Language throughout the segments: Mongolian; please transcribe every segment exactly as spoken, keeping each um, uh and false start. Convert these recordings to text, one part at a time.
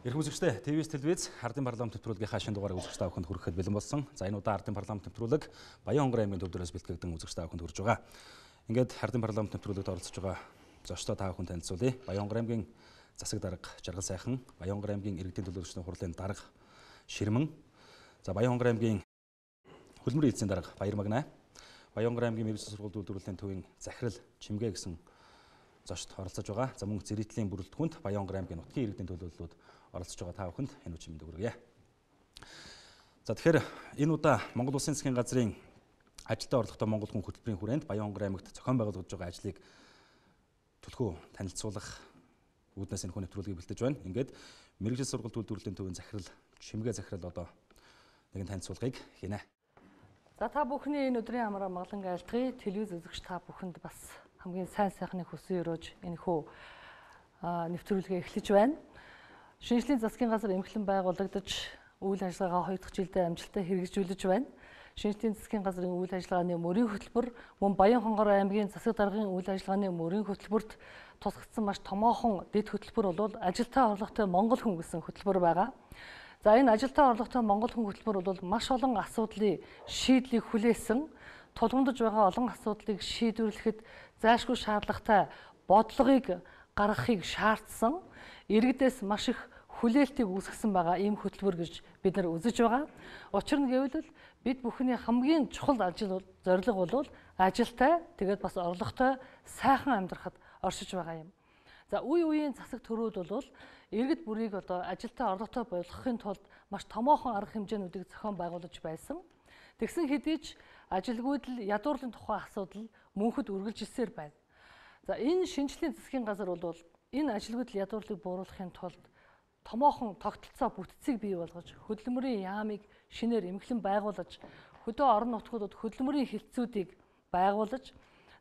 Ирэх үзэгчдээ ТВ-с телевиз Ардын парламент нэвтрүүлгийнхаа шинэ дугаарыг үзэгч та бүхэнд хүрэхэд бэлэн болсон. За энэ удаа Ардын парламент нэвтрүүлэг Баян-Хонгор аймгийн төв дээрээс бэлтгэгдэн үзэгч та бүхэнд хүрж байгаа. Ингээд Ардын парламент нэвтрүүлэгт оролцож байгаа зочдоо та бүхэнд танилцуулъя. Баян-Хонгор аймгийн засаг дарга Жаргал сайхан, Баян-Хонгор аймгийн иргэдийн төлөөлөгчдийн хурлын дарга Ширмэн, за Баян-Хонгор аймгийн хөлмөрийн эцсийн дарга Баяр Магнай, Баян-Хонгор аймгийн мэргэжил сургууль үйлдвэрлэлийн төвийн захирал Чимгээ гэсэн зочд оролцож байгаа. За мөн зэрэгтлийн бүрэлдэхүүнд Баян-Хонгор аймгийн нутгийн иргэдийн төлөөллүүд оролцож байгаа та бүхэнд энэ үчимэнд хүргье. За тэгэхээр энэ удаа Монгол Улсын засгийн газрын ажилтаа орлоготой Монгол хүн хөтөлбөрийн хүрээнд Баян-Хонгор аймагт зохион байгуулагдж байгаа ажлыг төлхөө танилцуулах үүднээс энэ хүн нэвтрүүлгийг бэлдэж байна. Ингээд мэргэжил сургууль үйлдвэрлэлийн төвийн захирал Чимгээ захирал одоо нэгэн танилцуулгыг хийнэ. За та бүхний энэ өдрийн амраа маглан айлтгая. Телевиз үзэгч та бүхэнд бас хамгийн сайн сайхны хүсэн өрөөж энэ хүү нэвтрүүлгээ эхлэж байна. Шинжлэлийн засгийн газар эмхлэн байгуулагдаж үйл ажиллагаа хоёр дахь жилдээ амжилттай хэрэгжүүлж байна. Шинжлэлийн засгийн газрын үйл ажиллагааны мөрийн хөтөлбөр мөн Баян-Хонгор аймгийн засаг даргын үйл ажиллагааны мөрийн хөтөлбөрт тусгагдсан маш томоохон дэд хөтөлбөр бол ажилтаа орлоготой Монгол хүн гэсэн хөтөлбөр байгаа. За энэ ажилтаа орлоготой Монгол хүн хөтөлбөр бол маш олон асуудлыг шийдлийг хүлээсэн, тулгамдж байгаа олон асуудлыг шийдвэрлэхэд зайлшгүй шаардлагатай бодлогыг гаргахыг шаардсан, иргэдээс маш их хүлээлтийг үүсгэсэн байгаа ийм хөтөлбөр гэж бид нар үзэж байгаа. Учир нь гэвэл бид бүхний хамгийн чухал ажил зорилго бол ажилтай, тэгээд бас орлоготой сайхан амьдрахад оршиж байгаа юм. За үе үеийн засаг төрүүд бол иргэд бүрийг одоо ажилтай орлоготой болгохын тулд маш томоохон арга хэмжээнүүдийг зохион байгуулж байсан. Тэгсэн хэдий ч ажилгүйдэл ядуурлын тухай асуудал мөнхөд үргэлжилсээр байна. За энэ шинжлэлийн засгийн газар бол энэ ажилгүйдэл ядуурлыг бууруулахын тулд томоохон тогтолцоо бүтцийг бий болгож, хөдөлмөрийн яамыг шинээр эмхлэн байгуулж, хөдөө орон нутгуудад хөдөлмөрийн хилцүүдийг байгуулж,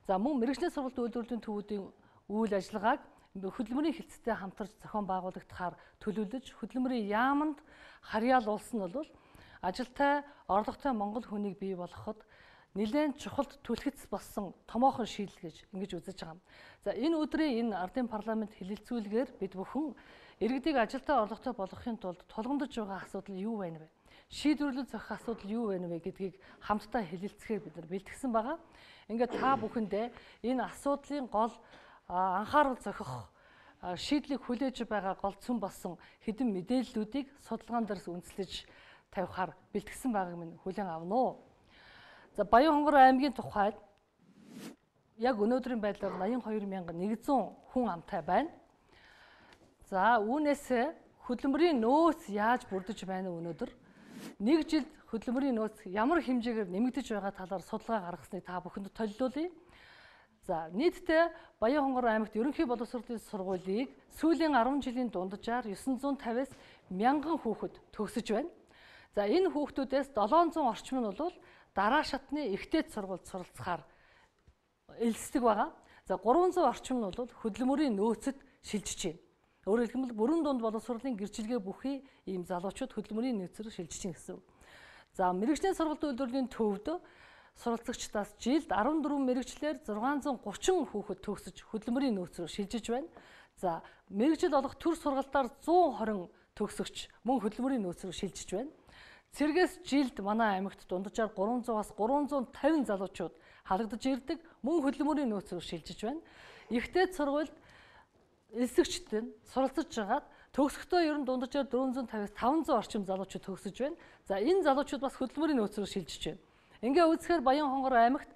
за мөн мэргэжлийн сургалт үйлдвэрлэлийн төвүүдийн үйл ажиллагааг хөдөлмөрийн хилцтэй хамтарч зохион байгуулагдахаар төлөвлөж, хөдөлмөрийн яамд харьяалуулсан нь бол ажилтай орлоготой Монгол хүнийг бий болгоход нэлээд чухалд түлхэц болсон томоохон шийдэл гэж ингэж үзэж байгаа. За энэ өдрийн энэ ардын парламент хэлэлцүүлгээр бид бүхэн иргэдийг ажилтаа орлоготой болгохын тулд тулгамдж байгаа асуудал юу байна вэ? Шийдвэрлэл зохих асуудал юу байна вэ гэдгийг хамтдаа хэлэлцэхээр бид нар бэлтгэсэн байгаа. Ингээд та бүхэндээ энэ асуудлын гол анхаарал зохих шийдлийг хүлээж байгаа гол цөм болсон хэдэн мэдээллүүдийг судалгаан дээрс үндэслэж тавихаар бэлтгэсэн байгааг минь хүлээн авна уу. За Баян-Хонгор аймгийн тухайд яг өнөөдрийн байдлаар найман хоёр мянга нэгдсэн хүн амтай байна. За үүнээс хөдөлмөрийн нөөц яаж бүрдэж байна өнөөдөр? Нэг жилд хөдөлмөрийн нөөц ямар хэмжээгээр нэмэгдэж байгаа талаар судалгаа гаргасныг та бүхэнд толилуулъя. За нийтдээ Баян-Хонгор аймагт ерөнхий боловсролын сургуулийг сүүлийн арван жилийн дунджаар дев'ять сая пятьдесят мянган хүүхэд төгсөж байна. За энэ хүүхдүүдээс долоон зуун орчим нь бол дараа шатны ихтэйд сургуульд суралцахаар элсдэг байгаа. За гурван зуун орчим нь бол хөдөлмөрийн нөөцөд шилжиж байна. Өөрөөр хэлбэл бүрэн дунд боловсролын гэрчилгээ бүхий ийм залуучууд хөдөлмөрийн нөөцөөр шилжиж байна гэсэн үг. За мэргэжлийн сургалт үйлдвэрлэлийн төвд суралцагчдаас жилд арван дөрвөн мэргэжлэр зургаан зуун гучин хүүхэд төгсөж хөдөлмөрийн нөөцөөр шилжиж байна. За мэргэжил олох төр сургалтаар зуун хорин төгсөгч мөн хөдөлмөрийн нөөцөөр шилжиж байна. Цэргээс жилд манай аймагт дунджаар гурван зуунаас гурван зуун тавин залуучууд халагдаж ирдэг, мөн хөдөлмөрийн нөөцөөр шилжиж байна. Ихтэйд сургуульд элсэгчд нь суралцж байгаад төгсөхдөө ер нь дунджаар дөрвөн зуун тавиас таван зуун орчим залуучууд төгсөж байна. За энэ залуучууд бас хөдөлмөрийн нөөцөөр шилжиж байна. Ингээ үзэхээр Баян-Хонгор аймагт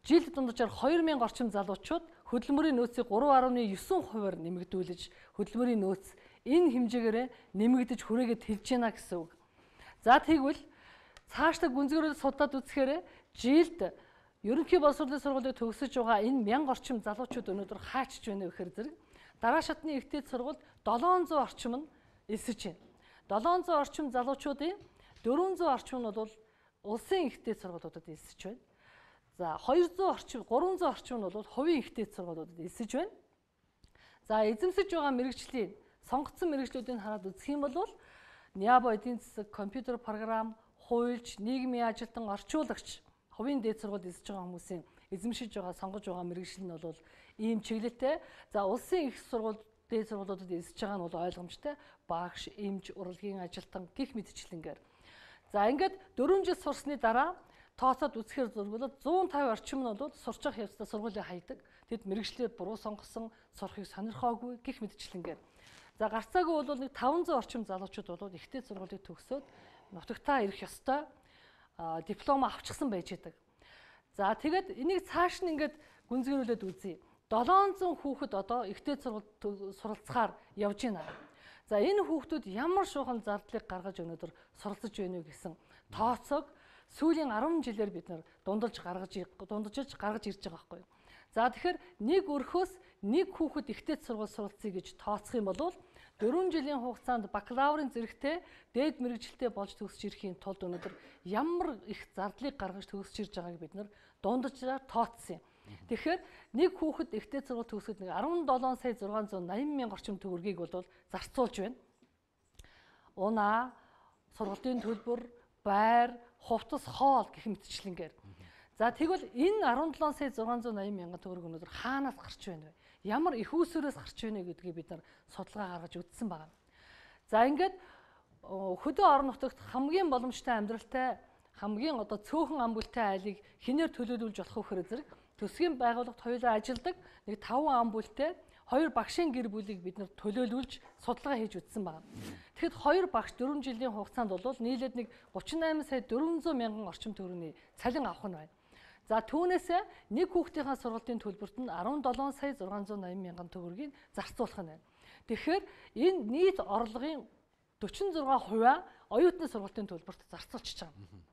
жилд дунджаар хоёр мянга орчим залуучууд хөдөлмөрийн нөөцийг гурван арван девять хувиар нэмэгдүүлж, хөдөлмөрийн нөөц энэ хэмжээгээр нэмэгдэж хүрээгээд хэлж байна гэсэн үг. За тэгвэл цаашдаа гүнзгийрэл судлаад үзэхээр жилд ерөнхий боловсролын сургуулийг төгсөж байгаа энэ мянга орчим залуучууд өнөөдөр хаачж байна вэ гэхээр зэрэг дараа шатны ихтэйд сургуульд долоон зуун орчим нь элсэж байна. долоон зуун орчим залуучуудын дөрвөн зуун орчим нь бол улсын ихтэйд сургуулиудад элсэж байна. За хоёр зуун орчим, гурван зуун орчим нь бол хувийн ихтэйд сургуулиудад элсэж байна. За эзэмсэж байгаа мэргэжлийн сонгогдсон мэргэжлүүдийг хараад үзэх юм бол Ниабо эдийн засаг, компьютер програм, хуульч, нийгмийн ажилтан, орчуулагч, хувийн дээд сургуульд эзэж байгаа хүмүүсийн эзэмшиж байгаа, сонгож байгаа мэргэжил нь бол ийм чиглэлтэй. За улсын их сургууль дээд сургуулиудад эсэж байгаа нь бол ойлгомжтой. Багш, эмч, урлагийн ажилтан гих мэтчлэнгээр. За ингээд дөрвөн жил сурсны дараа тооцоод үзэхээр зургуулад зуун тавь орчим нь бол сурч явах явцдаа сургуулийг хайдаг. Тэд мэрэгчлээ буруу сонгосон, сурахыг сонирхоогүй гих мэтчлэнгээр. За гарцаагүй бол нэг таван зуун орчим залуучууд бол ихтэй сургуулийг төгсөөд нутагтаа ирэх ёстой диплом авчихсан байж байдаг. За тэгээд энийг цааш нь ингээд гүнзгийрүүлээд үзье. долоон зуун хүүхэд одоо ихтэй сургуульд суралцахаар явж байна. За энэ хүүхдүүд ямар шуухан зардлыг гаргаж өнөөдөр суралцж байна вэ гэсэн тооцоог сүүлийн арван жилээр бид нар дундалж гаргаж дундажж гаргаж ирж байгаа байхгүй юу. За тэгэхээр нэг өрхөөс нэг хүүхэд ихтэй сургууль суралцъя гэж тооцох юм бол дөрвөн жилийн хугацаанд бакалаврын зэрэгтэй дээд мэргэжилтэд болж төгсөж ирэхийн тулд өнөөдөр ямар их зардлыг гаргаж төгсөж ирж байгааг бид нар дундажаар тооцсон юм. Тэгэхээр нэг хүүхэд ихтэй сургууль төгсөд нэг арван долоон сая зургаан зуун найман мянга орчим төгрөгийг бол зарцуулж байна. Унаа, сургалтын төлбөр, байр, хувцас, хоол гэх мэтчлэнгээр. За тэгвэл энэ арван долоон сая зургаан зуун найман мянган төгрөг өнөөдөр хаанаас гарч байна вэ? Ямар их үүсвэрээс гарч байна гэдгийг бид нар судалгаа гаргаж үзсэн байна. За ингээд хөдөө орон нутагт хамгийн боломжтой амьдралтай, хамгийн одоо цөөхөн ам бүлтэй айлыг хинээр төлөөлүүлж болох вэ зэрэг төсвийн байгууллагт хоёулаа ажилдаг нэг таван ам бүлтэй хоёр багшийн гэр бүлийг бид нар төлөөлүүлж судалгаа хийж үзсэн байна. Тэгэхэд хоёр багш дөрвөн жилийн хугацаанд бол нийлээд нэг гучин найман сая дөрвөн зуун мянган орчим төгрөгийн цалин авах нь байна. За түүнээсээ нэг хүүхдийнхээ сургалтын төлбөрт нь арван долоон сая зургаан зуун найман мянган төгрөгийг зарцуулах нь байна. Тэгэхээр энэ нийт орлогын дөрвөн зургаан хувиа оюутны сургалтын төлбөрт зарцуулчихж байгаа.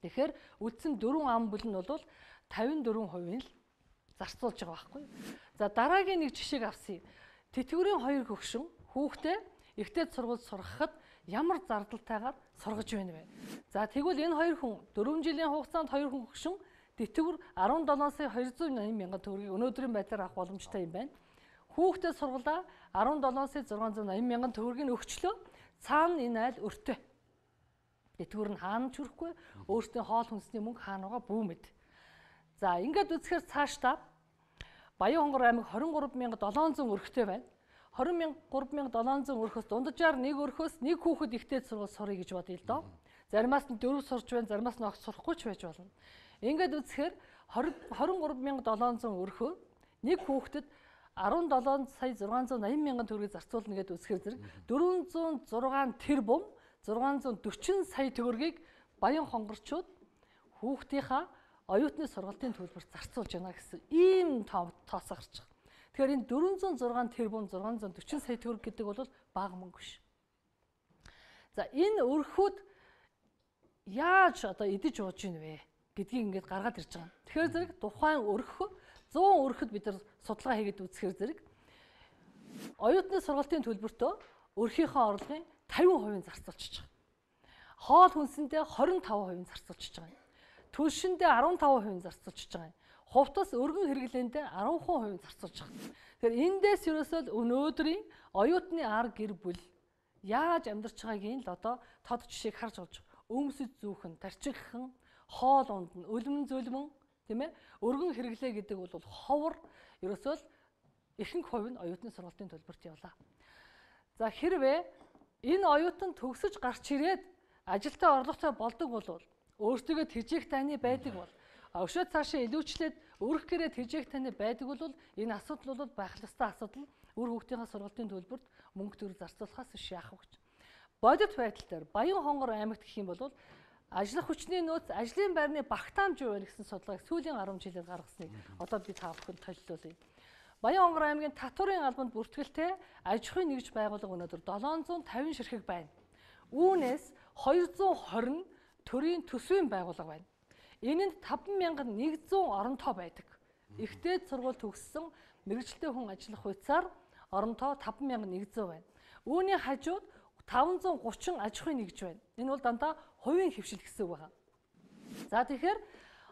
Тэгэхээр үдсэн дөрвөн ам бүл нь бол тавин дөрвөн хувийн л зарцуулж байгаа байхгүй. За дараагийн нэг жишээг авъя. Тэтгэврийн хоёр хөгшин хүүхдээ ихтэй сургуульд сургахад ямар зардалтайгаар сургаж байна вэ? За тэгвэл энэ хоёр хүн дөрвөн жилийн хугацаанд хоёр хүн хөгшин тэтгэвэр арван долоон сая хоёр зуун найман мянган төгрөгийг өнөөдрийн байдлаар авах боломжтой юм байна. Хүүхдээ сургуулаа арван долоон сая зургаан зуун найман мянган төгрөгийг өгчлөө. Цаана энэ айл өртөө. Тэтгэвэр нь хаана ч хүрэхгүй, өөртөө хоол хүнсний мөнгө хаана байгаа бүү мэд. За ингээд үзэхээр цаашдаа Баян-Хонгор аймаг хорин гурван мянга долоон зуун өрхтэй байна. хорин гурван мянга долоон зуун өрхөөс дунджаар нэг өрхөөс нэг хүүхэд ихтэй сургууль сурыг гэж бодъё л доо. Заримаас нь дөрөв сурч байна, заримаас нь огт сурахгүй ч байж болно. Ингээд үзэхээр хорин гурван мянга долоон зуун өрхөө нэг хүүхдэд арван долоон сая зургаан зуун найман мянган төгрөгийг зарцуулна гэдээ үзэхээр зэрэг дөрвөн зуун зургаан тэрбум зургаан зуун дөрвөн сая төгрөгийг Баян-Хонгорчууд хүүхдийнхаа оюутны сургалтын төлбөрт зарцуулж байна гэсэн ийм тооцоо гарч байгаа. Тэгэхээр энэ дөрвөн зуун зургаан тэрбум зургаан зуун дөрвөн сая төгрөг гэдэг бол бага мөнгө биш. За энэ өрхүүд яаж одоо идэж ууж ийн вэ гэдгийг ингээд гаргаад ирж байгаа. Тэгэхээр зэрэг тухайн өрхө зуун өрхөд бид нар судалгаа хийгээд үзэхээр зэрэг оюутны сургалтын төлбөртөө өрхийнхөө орлогын тавин хувийг зарцуулчихж байгаа. Хоол хүнсэндээ хорин таван хувийг зарцуулчихж байгаа. Түлшиндээ арван таван хувийг зарцуулчихж байгаа. Хувцас өргөн хэрэглээндээ арван хувийг зарцуулж байгаа. Тэгэхээр эндээс ерөөсөө өнөөдрийн оюутны ар гэр бүл яаж амьдарч байгаагийн л одоо тод жишээг харж болж байгаа. Өмсөж зүүхэн, тарчиххан, хоол ундна, өлмөн зөлмөн, тийм ээ? Өргөн хэрэглээ гэдэг бол ховор ерөөсөө ихэнх хувь нь оюутны сургалтын төлбөрт явлаа. За хэрвээ энэ оюутан төгсөж гарч ирээд ажилтаа орлоготой болдог бол өөртөө тэжээх таны байдаг бол өшөө цаашаа илүүчлээд өрх гэрээ тэжээх таны байдаг бол энэ асуудал бол байх ёстой асуудал. Үр хүүхдийн сургалтын төлбөрт мөнгө төгрөг зарцуулахаас биш яах вэ гэж. Бодит байдал дээр Баян-Хонгор аймагт гэх юм бол ажлах хүчний нөөц ажлын байрны багтаамж юу вэ гэсэн судалгааг сүүлийн арван жилээр гаргасныг одоо би та бүхэнд толилуулъя. Баян-Хонгор аймгийн татварын албанд бүртгэлтэй аж ахуйн нэгж байгууллага өнөөдөр долоон зуун тавин ширхэг байна. Үүнээс хоёр зуун хорин төрийн төсвийн байгууллага байна. Энэнд таван мянга нэг зуун оронтой байдаг. Ихтэй сургууль төгссөн мэргэжилтэй хүн ажиллах хуйцаар оронтой таван мянга нэг зуун байна. Үүний хажууд таван зуун гучин аж ахуйн нэгж байна. Энэ бол дандаа хувийн хөвшил гэсэн үг байна. За тэгэхээр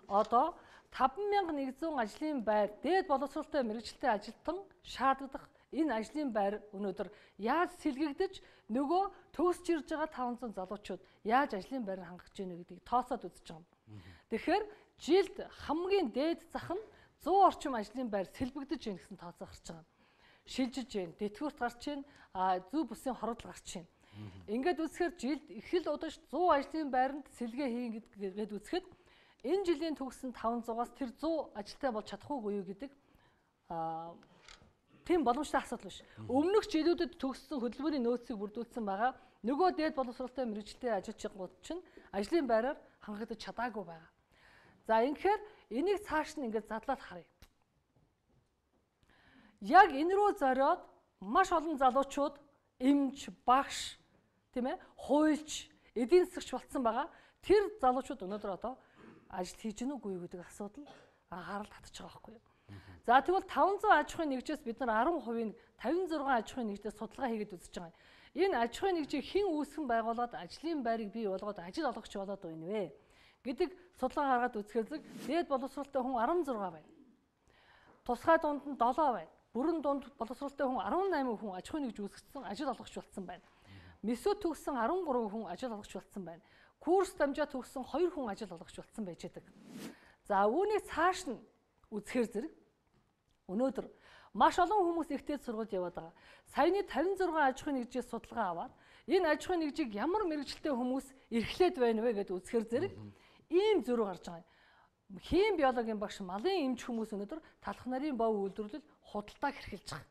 одоо таван мянга нэг зуун ажлын байр дээд боловсролтой мэргэжилтэй ажилтан шаарддаг энэ ажлын байр өнөөдөр яаж сэлгэгдэж нөгөө төгсж ирж байгаа таван зуун залуучууд яаж ажлын байрыг хангаж ийнэ гэдгийг тооцоод үзэж байгаа юм. Тэгэхээр жилд хамгийн дээд зах нь зуун орчим ажлын байр сэлбэгдэж ийн гэсэн тооцоо гарч байгаа. шилжиж байна. Тэтгэврт гарч байна. А зөв бүсийн хорогдол гарч байна. Ингээд үзэхээр жилд их л удаж зуун ажлын байранд сэлгээ хийн гэдгээд үзэхэд энэ жилийн төгссөн таван зугаас тэр зуун ажилтай болж чадахгүй юу гэдэг а тийм боломжтой асуудал биш. Өмнөх жилүүдэд төгссөн хөдөлмөрийн нөөцийг бүрдүүлсэн байгаа. Нөгөө дээд боловсролтой мэргэжилтэд ажиллагчид чинь ажлын байраар хангагдаж чадаагүй байгаа. За ингэхээр энийг цааш нь ингээд задлаад харъя. Яг энэ рүү зориод маш олон залуучууд эмч, багш, тийм ээ, хуульч, эдийн засагч болцсон байгаа. Тэр залуучууд өнөөдөр одоо ажил хийж гэнэ үгүй юу гэдэг асуудал анхаарал татчих байгаа байхгүй юу. За тэгвэл таван зуун аж ахуйн нэгжээс бид нар арван хувийн тавин зургаан аж ахуйн нэгжээс судалгаа хийгээд үзэж байгаа. Энэ аж ахуйн нэгжийг хэн үүсгэн байгуулад ажлын байрыг бий болгоод ажил олгогч болоод байна вэ гэдэг судалгаа гаргаад үзэхээр зэрэг дээд боловсролтой хүн арван зургаан байна. Тусгай дунд нь долоо байна. Бүрэн дунд боловсролтой хүн арван найман хүн аж ахуйн нэгж үүсгэсэн ажил олгогч болсон байна. Месү төгссөн арван гурван хүн ажил олгогч болсон байна. Курс дамжаа төгссөн хоёр хүн ажил олгогч болсон байж байгаа. За үүнийг цааш нь үзэхээр зэрэг өнөөдөр маш олон хүмүүс ихтэй сургууль яваад байгаа. Саяны тавин зургаан аж ахуйн нэгжээс судалгаа аваад энэ аж ахуйн нэгжийг ямар мэрэгчлээ хүмүүс эрхлээд байна вэ гэдээ үзэхээр зэрэг ийм зөрүү гарч байгаа юм. Хим биологийн багш, малын эмч хүмүүс өнөөдөр талх нарын бов үйлдвэрлэл худалдааг хэрхэлж байгаа.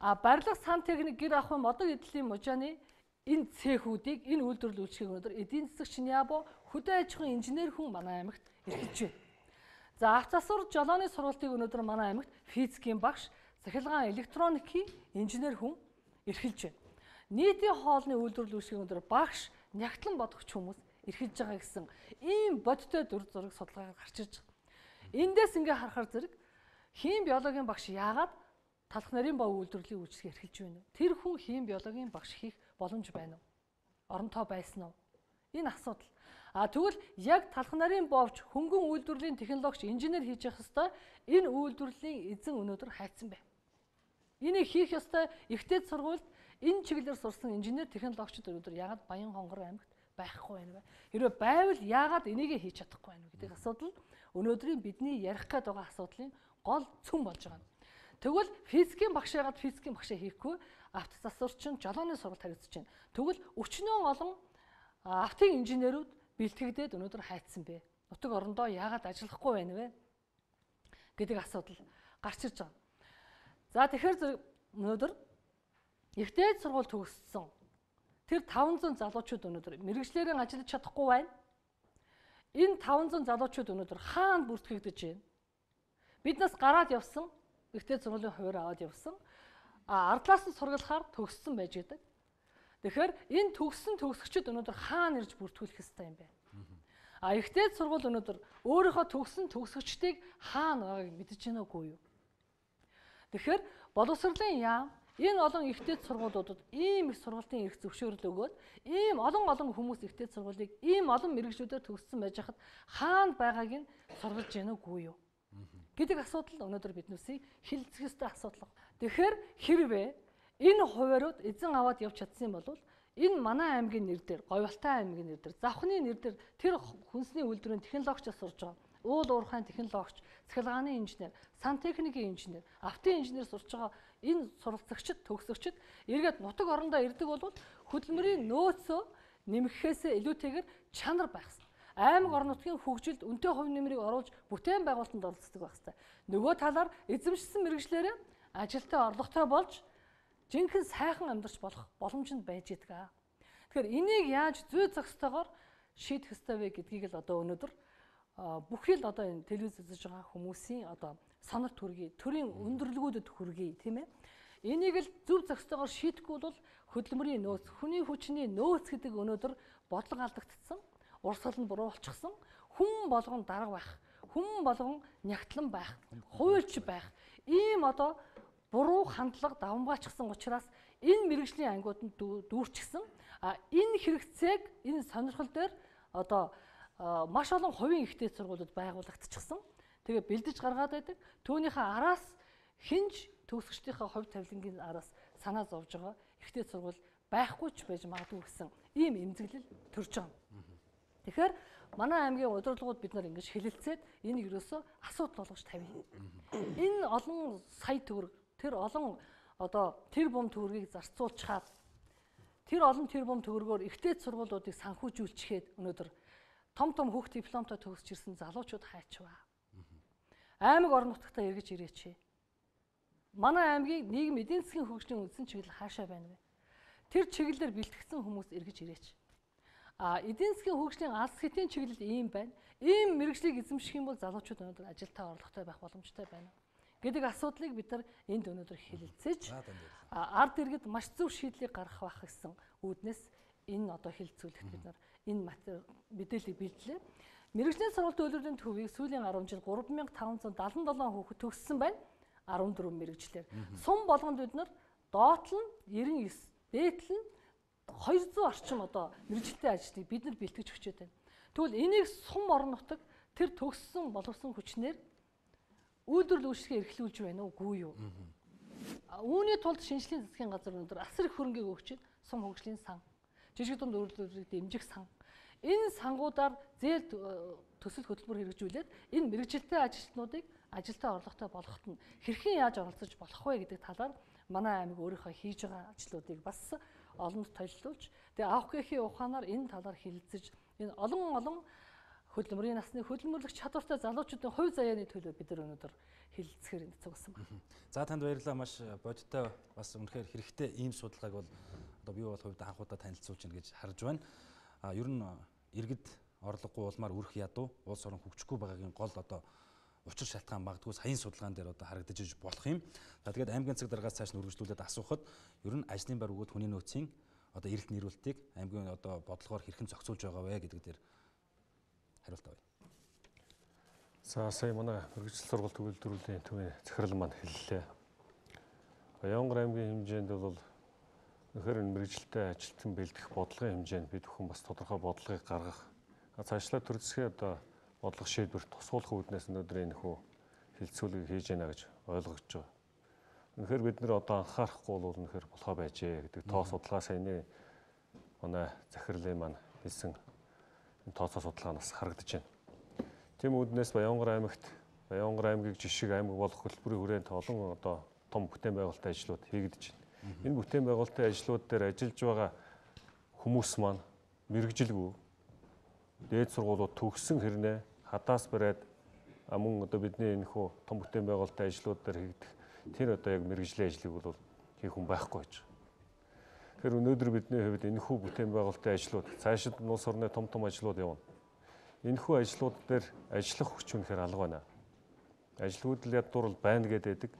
А барилга сан техник гэр ахуйн модог эдлийн мужааны энэ цехүүдийг энэ үйлдвэрлэл үйлчлэгийг өнөөдөр эдийн засагч Ниабо хөдөө аж ахуйн инженер хүн манай аймагт эрхэлж байна. За авч засвар жолооны сургалтыг өнөөдөр манай аймагт физикийн багш, цахилгаан электроникийн инженер хүн эрхэлж байна. Нийтийн хоолны үйлдвэрлэл үйлчлэгийг өнөөдөр багш, нягтлан бодогч хүмүүс эрхэлж байгаа гэсэн ийм бодиттой дүр зураг судалгаа гарч ирж байгаа. Эндээс ингээ харахаар зэрэг хим биологийн багш яагаад талх нарын бов үйлдвэрлэлийн үйлчлэгийг эрхэлж байна вэ? Тэр хүн хим биологийн багш хийх боломж байна уу? Оронтой байсан уу? Энэ асуудал. А тэгвэл яг талх нарын бовч хөнгөн үйлдвэрлэлийн технологич инженер хийж явах ёстой энэ үйлдвэрлэлийн эзэн өнөөдөр хайцсан байна. Энийг хийх ёстой ихтэй сургуульд энэ чиглэлээр сурсан инженер технологичд өнөөдөр яагаад Баян-Хонгор аймагт байхгүй байна вэ? Хэрвээ байвал яагаад энийг хийж чадахгүй байна вэ гэдэг асуудал өнөөдрийн бидний ярих гээд байгаа асуудлын гол цөм болж байгаа. Тэгвэл физикийн багш яагаад физикийн багшаа хийхгүй авто засварчин жолооны сургалт харагдаж байна. Тэгвэл өчнөө олон автын инженерүүд бэлтгэгдээд өнөөдөр хайцсан бэ. Нутаг орондоо яагаад ажиллахгүй байна вэ гэдэг асуудал гарч ирж байгаа. За тэгэхээр өнөөдөр ихтэй сургууль төгссөн тэр таван зуун залуучууд өнөөдөр мэрэгчлэрийн ажиллаж чадахгүй байна. Энэ таван зуун залуучууд өнөөдөр хаана бүртгэгдэж байна? Биднээс гараад явсан ихтэй сургуулийн хуваар аваад явсан. А ардлаас нь сургалахаар төгссөн байж байдаг. Тэгэхээр энэ төгссөн төгсөгчд өнөөдөр хаана ирж бүртгүүлэх ёстой юм бэ? А ихтэй сургууль өнөөдөр өөрийнхөө төгссөн төгсөгчдийг хаана байгааг мэдэж байна уугүй юу? Тэгэхээр боловсролын яам энэ олон ихтэй сургуулиудад ийм их сургалтын эрх зөвшөөрөл өгөөд ийм олон олон хүмүүс ихтэй сургуулийг ийм олон мэргэжлүүдээр төгссөн байж хахад хаана байгааг нь сургалж байна уугүй юу? Гэдэг асуудал өнөөдөр биднээсээ хилцэх ёстой асуудал. Тэгэхээр хэрвээ энэ хуваарууд эзэн аваад явж чадсан бол энэ манай аймгийн нэр дээр, Говьалтай аймгийн нэр дээр, Завхны нэр дээр тэр хүнсний үйлдвэрийн технологичос сурж байгаа. Уул уурхайн технологич, цахилгааны инженер, сантехникийн инженер, автын инженер сурж байгаа энэ суралцагчид, төгсөгчид эргээд нутаг орондоо ирдэг бол хөдөлмөрийн нөөцөө нэмэхээсээ илүүтэйгээр чанар байх ёстой. Аймаг орон нутгийн хөгжилд үнэтэй хувь нэмрийг оруулж бүтээн байгуулалтанд оролцдог байх ёстой. Нөгөө талаар эзэмшсэн мэргэжлээрээ ажилтаа орлоготой болж жинхэнэ сайхан амьдарч болох боломж нь байж идэг. Тэгэхээр энийг яаж зүй зохистойгоор шийдэх ёстой вэ гэдгийг л одоо өнөөдөр бүхий л одоо энэ телевиз үзэж байгаа хүмүүсийн одоо сонор төргий, төрийн өндөрлгүүдэд хүргэе, тийм ээ. Энийг л зөв зохистойгоор шийдэхгүй бол хөдөлмөрийн нөөц, хүний хүчний нөөц гэдэг өнөөдөр бодлого алдагдсан. Урсгал нь буруу болчихсон. Хүн болгон дарга байх, хүн болгон нягтлан байх, хуульч байх. Ийм одоо буруу хандлага давамгаачсан учраас энэ мэргэжлийн ангиудад дүүрчихсэн. А энэ хэрэгцээг энэ сонирхол дээр одоо маш олон хувийн ихтэй сургуулиуд байгуулагдчихсан. Тэгээ бэлдэж гаргаад байдаг. Түүнийхээ араас хинж төгсөгчдийнхээ хувь тавилангийн араас санаа зовж байгаа ихтэй сургууль байхгүй ч байж магадгүй гэсэн ийм эмзэглэл төрж байгаа. Тэгэхээр манай аймгийн удирдлагууд бид нар ингэж хэлэлцээд энийг ерөөсөө асуудал болгож тавья. Энэ олон сая төгрөг тэр олон одоо тэр бум төгрөгийг зарцуулчихад тэр олон тэр бум төгрөгөөр ихтэй сургуулиудыг санхүүжүүлчихэд өнөөдөр том том хүүхд дипломтой төгсөж ирсэн залуучууд хайчваа. Аймаг орон нутгатаа эргэж ирээч. Манай аймгийг нийгэм эдийн засгийн хөгжлийн үндсэн чиглэл хаашаа байна вэ? Тэр чиглэлээр бэлтгэсэн хүмүүс эргэж ирээч. А эдийн засгийн хөгжлийн алс хэтийн чиглэл ийм байна. Ийм мэрэгжлийг эзэмших юм бол залуучууд өнөөдөр ажилтаа орлоготой байх боломжтой байна гэдэг асуудлыг бид нар энд өнөөдөр хэлэлцэж ард иргэд маш зөв шийдлийг гаргах байх гэсэн үүднээс энэ одоо хэлэлцүүлэгт бид нар энэ материал мэдээллийг бэлдлээ. Мэргэжлийн сургалтын үйлдвэрлэлийн төвийг сүүлийн арван жил гурван мянга таван зуун даатан долоо хүүхэд төгссөн байна. арван дөрвөн мэргэжлэр. Сум болгонд бид нар доотл нь девяносто девять, дээдл нь хоёр зуун орчим одоо мэргэжилтэй ажлыг бид нар бэлтгэж өчөөд байна. Тэгвэл энийг сум орон нутаг тэр төгссөн боловсон хүчнэр үйлдвэрлэл үйлчлэгээ эрхлүүлж байна уугүй юу? Үүний тулд шинжлэлийн засгийн газар өнөөдөр асар их хөрөнгийг өгчихэд сум хөгжлийн сан, жижиг дунд үйлдвэрлэлийг дэмжих сан. Энэ сангуудаар зээл төсөл хөтөлбөр хэрэгжүүлээд энэ мэргэжилтэй ажилтнуудыг ажилтаа орлоготой болгоход нь хэрхэн яаж оролцож болох вэ гэдэг талаар манай аймаг өөрийнхөө хийж байгаа ажлуудыг бас олонд толилуулж тэгээ авах гэхийн ухаанаар энэ талаар хэлэлцэж энэ олон олон хөдөлмөрийн насны хөдөлмөрлөх чадвартай залуучуудын хувь заяаны төлөө бид нар өнөөдөр хэлэлцэхээр энэ цугсан байна. За танд баярлалаа. Маш бодиттой бас үнэхээр хэрэгтэй ийм судалгааг бол одоо би бол хувьд анхудаа танилцуулж гин гэж харж байна. А ер нь иргэд орлогогүй улмаар үрэх ядуу улс орон хөгжихгүй байгаагийн гол одоо учир шалтгаан магадгүй саяын судалгаан дээр одоо харагдаж иж болох юм. За тэгээд аймгийн цаг дараагаас цааш нь үргэлжлүүлээд асуухад ер нь ажлын байр өгөөд хүний нөөцийн одоо эрэлт нэрүүлтийг аймгийн одоо бодлогоор хэрхэн зохицуулж байгаа вэ гэдэг дээр хариулт авъя. За сая манай мэргэжил сургалт үйлдвэрлэлийн төвийн захирал маань хэллээ. Баянгар аймгийн хэмжээнд бол үнэхээр мэргэжилтэй ажилтан бэлдэх бодлогын хэмжээнд бид бүхэн бас тодорхой бодлогыг гаргах. Цаашлаа төр засгийн одоо бодлого шийдвэр тусгуулах үүднээс өнөөдөр энэ хүү хилцүүлгийг хийж байна гэж ойлгож байгаа. Үнэхээр бид нэр одоо анхаарахгүй бол үнэхээр болохоо байжээ гэдэг тоо судалгаа саяны манай захирлын маань хэлсэн энэ тооцоо судалгаанаас харагдаж байна. Тийм үүднээс Баянгар аймагт Баянгар аймгийг жишг аймаг болох хөтөлбөрийн хүрээнд олон одоо том бүтээн байгуулалтын ажлууд хийгдэж байна. Энэ бүтээн байгуулалтын ажлууд дээр ажиллаж байгаа хүмүүс маань мэрэгжилгүй дээд сургуулиуд төгссөн хэрнээ хадаас бариад мөн одоо бидний энэ хөө том бүтээн байгуулалтын ажлууд дээр хийгдэх тэр одоо яг мэрэгжлийн ажлыг бол хийх хүн байхгүй гэж. Тэгэхээр өнөөдөр бидний хувьд энэ хүү бүтээн байгуулалтын ажлууд цаашид улс орны том том ажлууд явна. Энэ хүү ажлууд дээр ажиллах хүч үнэхээр алга байна. Ажлууд л ядуур байна гэдэг.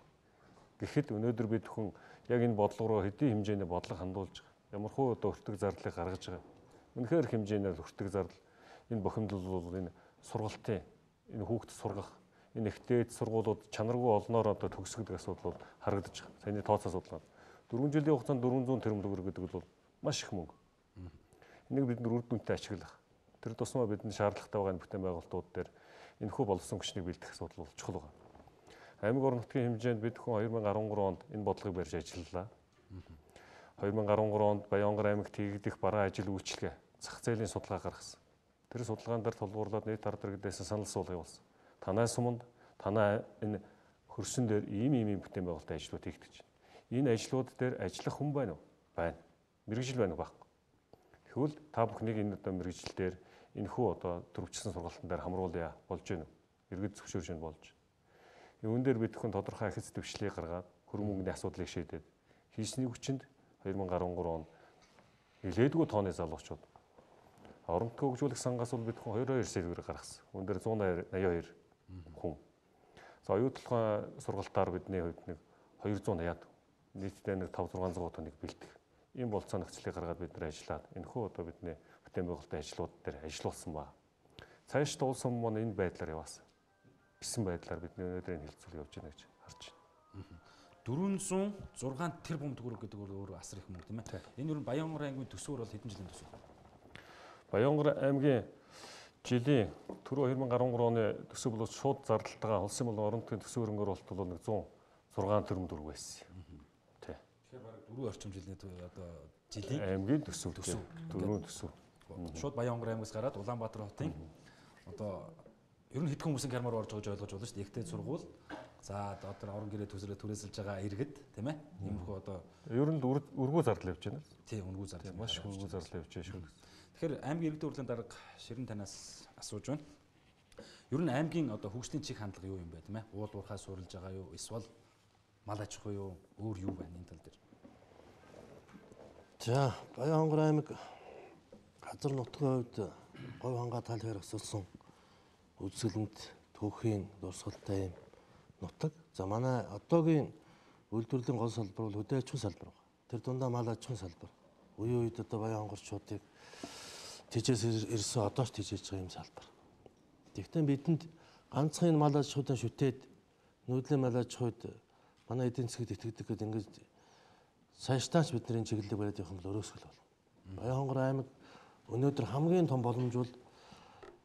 Гэхэд өнөөдөр бид хүн яг энэ бодлого руу хэдийн хэмжээний бодлого хандуулж байгаа. Ямар хөө одоо өртөг зарлыг гаргаж байгаа. Үнэхээр хэмжээний өртөг зардал энэ бохимдол бол энэ сургалтын энэ хүүхдэд сургах энэ ихтэй сургуулиуд чанаргүй олноор одоо төгсгдөг асуудал бол харагдаж байгаа. Саяны тооцоо судалгаа. дөрвөн жилийн хугацаанд дөрвөн зуун тэрбум төгрөг гэдэг бол маш их мөнгө. Энийг бид нар үр дүнтэй ашиглах. Тэр тусмаа бидний шаардлагатай байгаа энэ бүтээн байгуулалтууд дээр энэ хүү болсон хүчнийг бэлдэх асуудал бол чухал байна. Аймаг орон нутгийн хэмжээнд бид хүн хоёр мянга арван гурван онд энэ бодлогыг барьж ажиллалаа. хоёр мянга арван гурван онд Баянгар аймагт хийгдэх бараа ажил үйлчлэгээ зах зээлийн судалгаа гаргасан. Тэр судалгаан дээр тулгуурлаад нийт ард иргэдээс санал асуулга явуулсан. Танай суманд танай энэ хөрсөн дээр ийм ийм ийм бүтээн байгуулалтын ажлууд хийгдэж байна. Энэ ажлууд дээр ажиллах хүн байна уу? Байна. Мэргэжил байна уу? Баггүй. Тэгвэл та бүхнийг энэ одоо мэргэжил дээр энэ хүү одоо төрөвчсөн сургалтын дээр хамруулъя болж байна уу? Иргэд зөвшөөрж байна болж. Үүн дээр бид хүн тодорхой ахиц дэвшлийг гаргаад хөрөн мөнгөний асуудлыг шийдээд хийсний хүчинд хоёр мянга арван гурван онд нэлээдгүй тооны залуучууд орон нутгийн хөгжүүлэх сангаас бол бид хүн хоёр хоёр сервер гаргасан. Үүн дээр зуун наяа хоёр хүн. За оюутлын сургалтаар бидний хувьд нэг хоёр зуун наяад нийтдээ нэг таван зургаан зуун тоног бэлдэх. Ийм болцоо нөхцөлийг гаргаад бид нар ажиллаад энэхүү одоо бидний бүтээн байгуулалтын ажлууд дээр ажиллуулсан ба. Цааш туулсан маань энэ байдлаар яваасан. Гэсэн байдлаар бидний өнөөдрийн хэлцүүл явж байна гэж харж байна. дөрвөн зуун зургаан тэрбум төгрөг гэдэг бол өөрөө асар их мөнгө тийм ээ. Энэ ер нь Баянгар аймгийн төсвөр бол хэдэн жилийн төсөв? Баянгар аймгийн жилийн түрүү хоёр мянга арван гурван оны төсөв бол шууд зардалтайгаа улсын болон орон нутгийн төсөв хөрөнгө оруулалт бол нэг зуун зургаан тэрбум төгрөг байсан. Тий. Тэгэхээр бараг дөрвөн орчим жилийн одоо жилийн аймгийн төсөв төсөв дөрвөн төсөв. Шууд Баянгар аймгаас гараад Улаанбаатар хотын одоо ер нь хэдхэн хүмүүсийн кармаар орж байгааг ойлгож болно шүү дээ. Ихтэй сургууль, За одоо орон гэрээ төсрөө түрээсэлж байгаа иргэд тийм ээ. Иймэрхүү одоо ер нь үргүү зардал явж байна. Тийм үргүү зардал. Маш их үргүү зардал явж байна шүү. Тэгэхээр аймгийн иргэдийн хурлын дарга Ширин танаас асууж байна. Ер нь аймгийн одоо хөгжлийн чиг хандлага юу юм бэ тийм ээ? Уул уурхай суурилж байгаа юу? Эсвэл мал аж ахуй юу? Өөр юу байна энэ тал дээр? За Баянгор аймаг газар нутгийн хувьд говь хангаа тал хэрэг өссөн үзэсгэлэнт түүхийн дурсгалтай юм нутаг. За манай одоогийн үйлдвэрлэлийн гол салбар бол хөдөө аж ахуйн салбар байна. Тэр дундаа мал аж ахуйн салбар. Үеийн үед одоо Баянгорчуудыг тижээс ирсэн одоо ч тижээж байгаа юм салбар. Тэгвэл бидэнд ганцхан мал аж ахуйд шүтээд нүүдлийн мал аж ахуйд манай эдийн засгт итгэдэг гэдэг ингэж цаашдаач бидний чиглэлийг бариад явах юм бол өрөөсгөл болно. Баянгор аймаг өнөөдөр хамгийн том боломж бол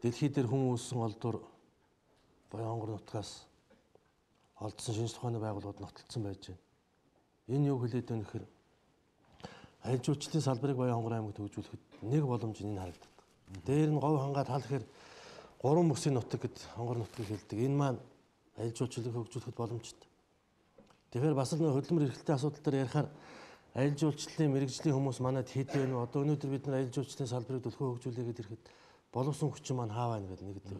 дэлхий дээр хүн үүссэн олдвор Баянгор нутгаас олдсон шинжлэх ухааны байгууллагууд нотолцсон байж байна. Энэ юу хэлээд байна гэхээр аж жуулчлалын салбарыг Баянгор аймагт хөгжүүлэхэд нэг боломж нь харагддаг. Дээр нь говь хангаа тал гэхээр гурван бүсийн нутаг гэд хонгор нутгийг хэлдэг. Энэ маань аж жуулчлалыг хөгжүүлэхэд боломжтой. Тэгэхээр бас л нөх хөдөлмөр эрхлэлтийн асуудал дээр ярихаар аж жуулчлалын мэрэгжлийн хүмүүс манайд хэд вэ? Одоо өнөөдөр бид нар аж жуулчлалын салбарыг төлхөө хөгжүүлээгээд ирэхэд боловсон хүчин маань хаа байна гэдэг нэгдэр.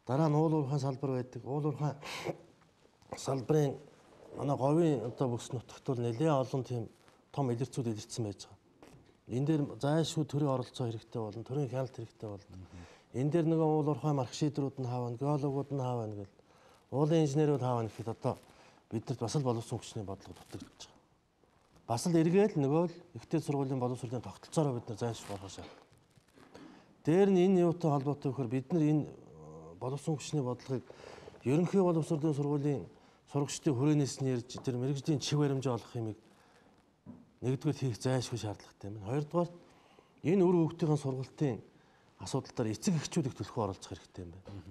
Дараа нь уул уурхайн салбар байдаг. Уул уурхайн салбарын манай говийн одоо бүс нутагт бол нэлээд олон тийм том илэрцүүд илэрсэн байж байгаа. Энэ дээр зайлшгүй төрийн оролцоо хэрэгтэй болно, төрийн хяналт хэрэгтэй болно. Энэ дээр нөгөө уул уурхайн марк шийдрүүд нь хаа байна, геологууд нь хаа байна гэл уулын инженерүүд хаа байна гэхэд одоо бидэрт бас л боловсон хүчний бодлого дутагдж байгаа. Бас л эргээл нөгөө л ихтэй сургуулийн боловсролын тогтолцоороо бид нар зайлшгүй болох шаардлага. Дээр нь энэ юутай холбоотой вэхээр бид нар энэ боловсон хүчний бодлогыг ерөнхий боловсролын сургуулийн сурагчдын хүрээнээс нь ярьж тэр мэрэгжлийн чиг баримжаа олох юмыг нэгдүгээр хийх зайлшгүй шаардлагатай юм. Хоёрдугаар энэ үр хөвгтийн сургалтын асуудал дээр эцэг эхчүүд их төлхөө оролцох хэрэгтэй юм байна.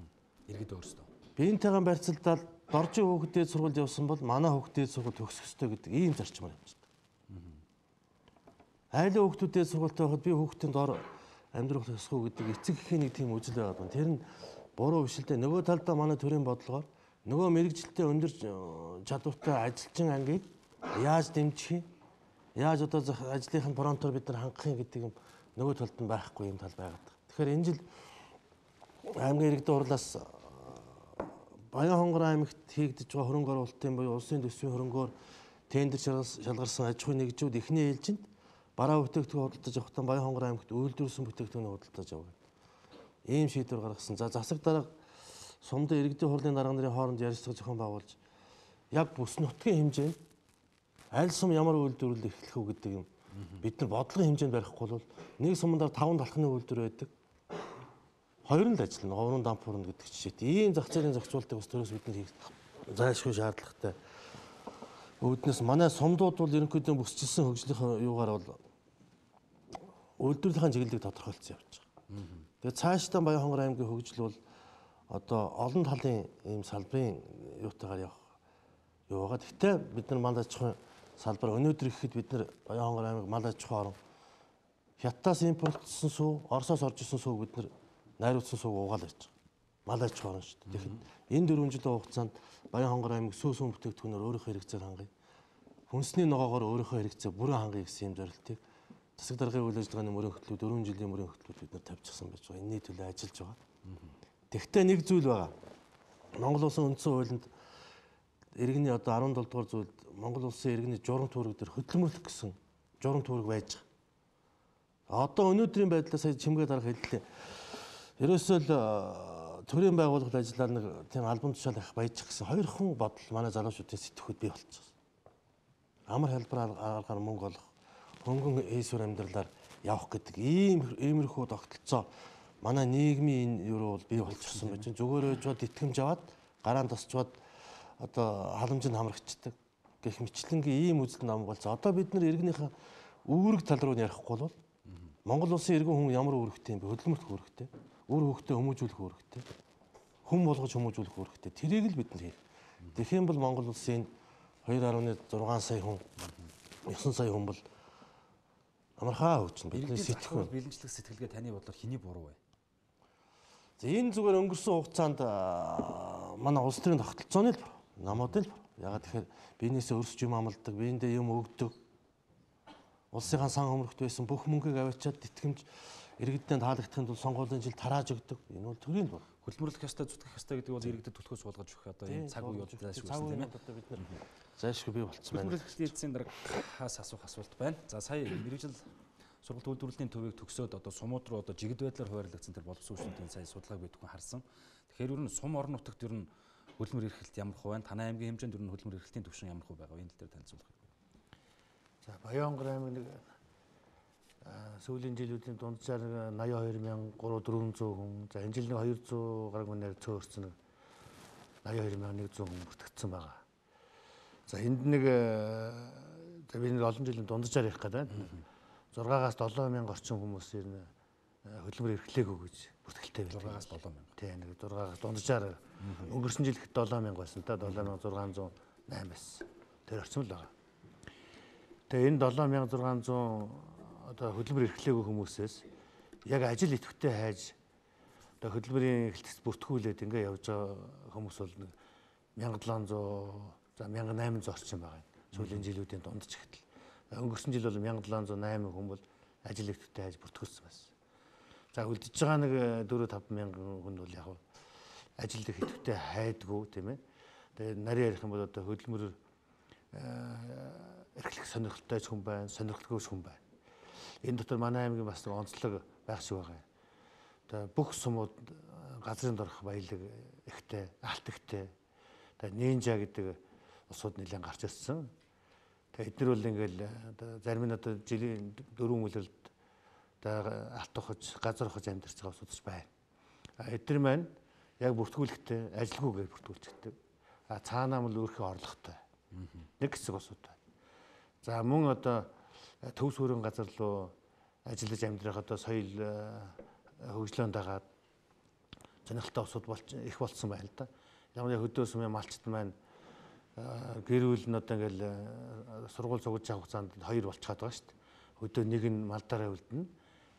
Иргэд өөрсдөө. Биентэйгээ барьцалдаад доржин хүүхдэд сургууль явсан бол манай хүүхдэд сургууль төгсөх ёстой гэдэг ийм зарчмаар явж байна. Айлын хүүхдүүдэд сургуультай байхад би хүүхдийн дор амьдрах ёсгүй гэдэг эцэг эхийн нэг тийм үзэл байгаа байна. Тэр нь буруу биш л дээ. Нөгөө талдаа манай төрийн бодлогоор нөгөө мэрэгжилтэй өндөр чадвартай ажилчин ангийг яаж дэмжих юм? Яаж одоо ажлынхын фронтоор бид нар хангах юм гэдэг юм нөгөө талд нь байхгүй юм тал байгаад. Тэгэхээр энэ жил аймгийн иргэдийн хурлаас Баянгор аймагт хийгдэж байгаа хөрөнгө оруулалтын буюу улсын төсвийн хөрөнгөөр тендер шалгарсан аж ахуйн нэгжүүд эхний ээлжинд бараа бүтээгдэхүүн худалдаж авахдаа Баянгор аймагт үйлдвэрлэсэн бүтээгдэхүүн худалдаж авах. Ийм шийдвэр гаргасан. За засаг дарга сумдын иргэдийн хурлын дарга нарын хооронд ярилцлага зохион байгуулж яг бүс нутгийн хэмжээнд аль сум ямар үйлдвэрлэл эхлэх үү гэдэг юм бид нар бодлогын хэмжээнд барихгүй бол нэг сумдаар таван талхны үйлдвэр байдаг. Хоёр нь л ажиллана. Говрын дампуурна гэдэг жишээт. Ийм зах зээлийн зохицуултыг бас төрөөс бид нар хийх зайлшгүй шаардлагатай. Үүднээс манай сумдууд бол ерөнхийдөө бүсчилсэн хөгжлийн юугаар бол үйлдвэрлэлийн чиглэлийг тодорхойлцсон явж байгаа. Тэгээд цаашдаа Баянгор аймгийн хөгжил бол одоо олон талын ийм салбарын юутайгаар явах юу байгаа. Гэхдээ бид нар мал аж ахуйн салбар өнөөдөр ихэд бид нар Баянгор аймаг мал аж ахуй орн Хятадаас импортлсон сүү, Оросоос орж ирсэн сүү бид нар найруулсан сууг угаал ирж байгаа. Мал аж ахуй орн шүү дээ. Тэгэхээр энэ дөрвөн жилийн хугацаанд Баянгор аймаг сүү сүүн бүтээгдэхүүнээр өөрийнхөө хэрэгцээг хангая. Хүнсний ногоогоор өөрийнхөө хэрэгцээ бүрэн хангая гэсэн юм зорилтыг засаг даргын үйл ажиллагааны мөрийн хөтлөө дөрвөн жилийн мөрийн хөтлөлд бид нар тавьчихсан байж байгаа. Энэний төлөө ажиллаж байгаа. Тэгвэл нэг зүйл байгаа. Монгол улсын үндсэн хуулинд иргэний одоо арван долоо дугаар зүйлд Монгол улсын иргэний журам түүрэг дээр хөдөлмөрлөх гэсэн журам түүрэг байж байгаа. Одоо өнөөдрийн байдлаар сая чимгээ дарга хэллээ. Ерөөсөө л төрийн байгууллагад ажиллаад нэг тийм албан тушаал их баяжих гэсэн хоёр хүн бодол манай залуучуудын сэтгхүүд бий болчихсон. Амар хэлбэр аргаар мөнгө олох, хөнгөн эсвэр амьдралаар явах гэдэг ийм иймэрхүү тогтолцоо манай нийгмийн энэ юу бол бий болчихсон байж байна. Зүгээр өжвод итгэмж аваад гараан тосчваад одоо халамжинд хамрагчдаг гэх мэтлэнгийн ийм үзэл нам болсон. Одоо бид нар иргэнийхээ үүрэг тал руу ярихгүй бол Монгол улсын иргэн хүн ямар үүрэгтэй юм бэ? Хөдөлмөрт үүрэгтэй. Үр хөвгтөө хүмүүжүүлэх үүрэгтэй. Хүм болгож хүмүүжүүлэх үүрэгтэй. Тэрийг л бид нар хийх. Тэгэх юм бол Монгол улсын хоёр гаруй зургаан сая хүн, девять сая хүн бол амархаа хөгжинэ. Бидний сэтгэл бэлэнчлэх сэтгэлгээ таны бодлоор хэний буруу вэ? За энэ зүгээр өнгөрсөн хугацаанд манай улс төрийн тогтолцооны л намуудын л ягаад тэгэхээр биенээсээ өрсөж юм амладаг, биендээ юм өгдөг. Улсынхаа сан өмөрөхт байсан бүх мөнгөийг аваачаад тэтгэмж иргэдэд таалагдахын тулд сонгуулийн жил тарааж өгдөг. Энэ бол төрийн бол. Хөдөлмөрлөх ёстой, зүтгэх ёстой гэдэг бол иргэдэд төлхөө суулгаж өгөх одоо энэ цаг үе бол зайлшгүй цаг үе тийм ээ. одоо бид нар зайлшгүй бий болцсон байна. Хөдөлмөрлөх эзэн дараагаас асуух асуулт байна. За сая мэрэгжил сургалт үйлдвэрлэлийн төвийг төгсөөд одоо сумууд руу одоо жигд байдлаар хуваарлагдсан тэр боловсруулалтын сая судалгааг бид бүхэн харсан. Тэгэхээр ер нь сум орон нутагт ер нь хөдөлмөр эрхлэлт ямар хувь байна? Танай аймгийн хэмжээнд ер нь хөдөлмөр эрхлэлтийн түвшин ямар хувь байгаа вэ? Энэ тал дээр танилцуулах хэрэгтэй. За Баянгар аймаг нэг сүүлийн жилүүдийн дунджаар восемьдесят хоёр мянга гуравдуурзуй хүн, за энэ жил нэг хоёр зуун гаруй мянгаар цөөрсөн нэг восемьдесят хоёр мянга нэгдүгээр хүн бүртгэгдсэн байгаа. За энд нэг за би нэг олон жилийн дунджаар явах гэдэг байна. зургаас долоо мянга орчим хүмүүс ер нь хөдөлмөр эрхлэегүй гэж бүртгэлтэй байлаа. зургаас долоо мянга. Тийм нэг зургаас дунджаар өнгөрсөн жил хэд долоо мянга байсан та долоо мянга зургаан зуун найман байсан. Тэр орчим л байгаа. Тэгээ энэ долоо мянга зургаан зуун одоо хөдөлмөр эрхлэегүй хүмүүсээс яг ажил идэвхтэй хайж одоо хөдөлмөрийн эхлэлтэд бүртгүүлээд ингээ явж байгаа хүмүүс бол нэг мянга долоон зуун за мянга найман зуун орчим байгаа. Сүүлийн жилүүдийн дундч ихтэл. Өнгөрсөн жил бол мянга долоон зуун найман хүн бол ажил идэвхтэй хайж бүртгүүлсэн байсан. За үлдэж байгаа нэг дөрөв таван мянган хүн бол яг ажил идэвхтэй хайдгүй тийм ээ. Тэгээ нарийн ярих юм бол одоо хөдөлмөр эрхлэх сонирхолтой хүн байна, сонирхолгүй хүн байна. Энэ дотор манай аймгийн бас нэг онцлог байх шиг байгаа. Одоо бүх сумууд газрын дорх баялаг ихтэй, алт ихтэй. Одоо Нинжа гэдэг усууд нэлээд гарч ирсэн. Тэгээ эдгээр бол ингээл одоо зарим нь одоо жилийн дөрвөн үлрэлт одоо алт ухаж, газар ухаж амьдарч байгаа усууд байна. А эдгээр маань яг бүртгүүлэхдээ ажилгүйгээр бүртгүүлчихдэг. А цаанаа мэл өөрхөн орлоготой. Нэг хэсэг усууд байна. За мөн одоо төв суурин газар руу ажиллаж амьдрах одоо соёл хөгжлөөнд дагаад сонирхолтой усууд болж их болсон байна л да. Яг нь хөдөө сумын малчт маань гэрүүл нь одоо ингээл сургууль цугж авах хугацаанд хоёр болчиход байгаа шүү дээ. Хөдөө нэг нь малдаараа үлдэнэ,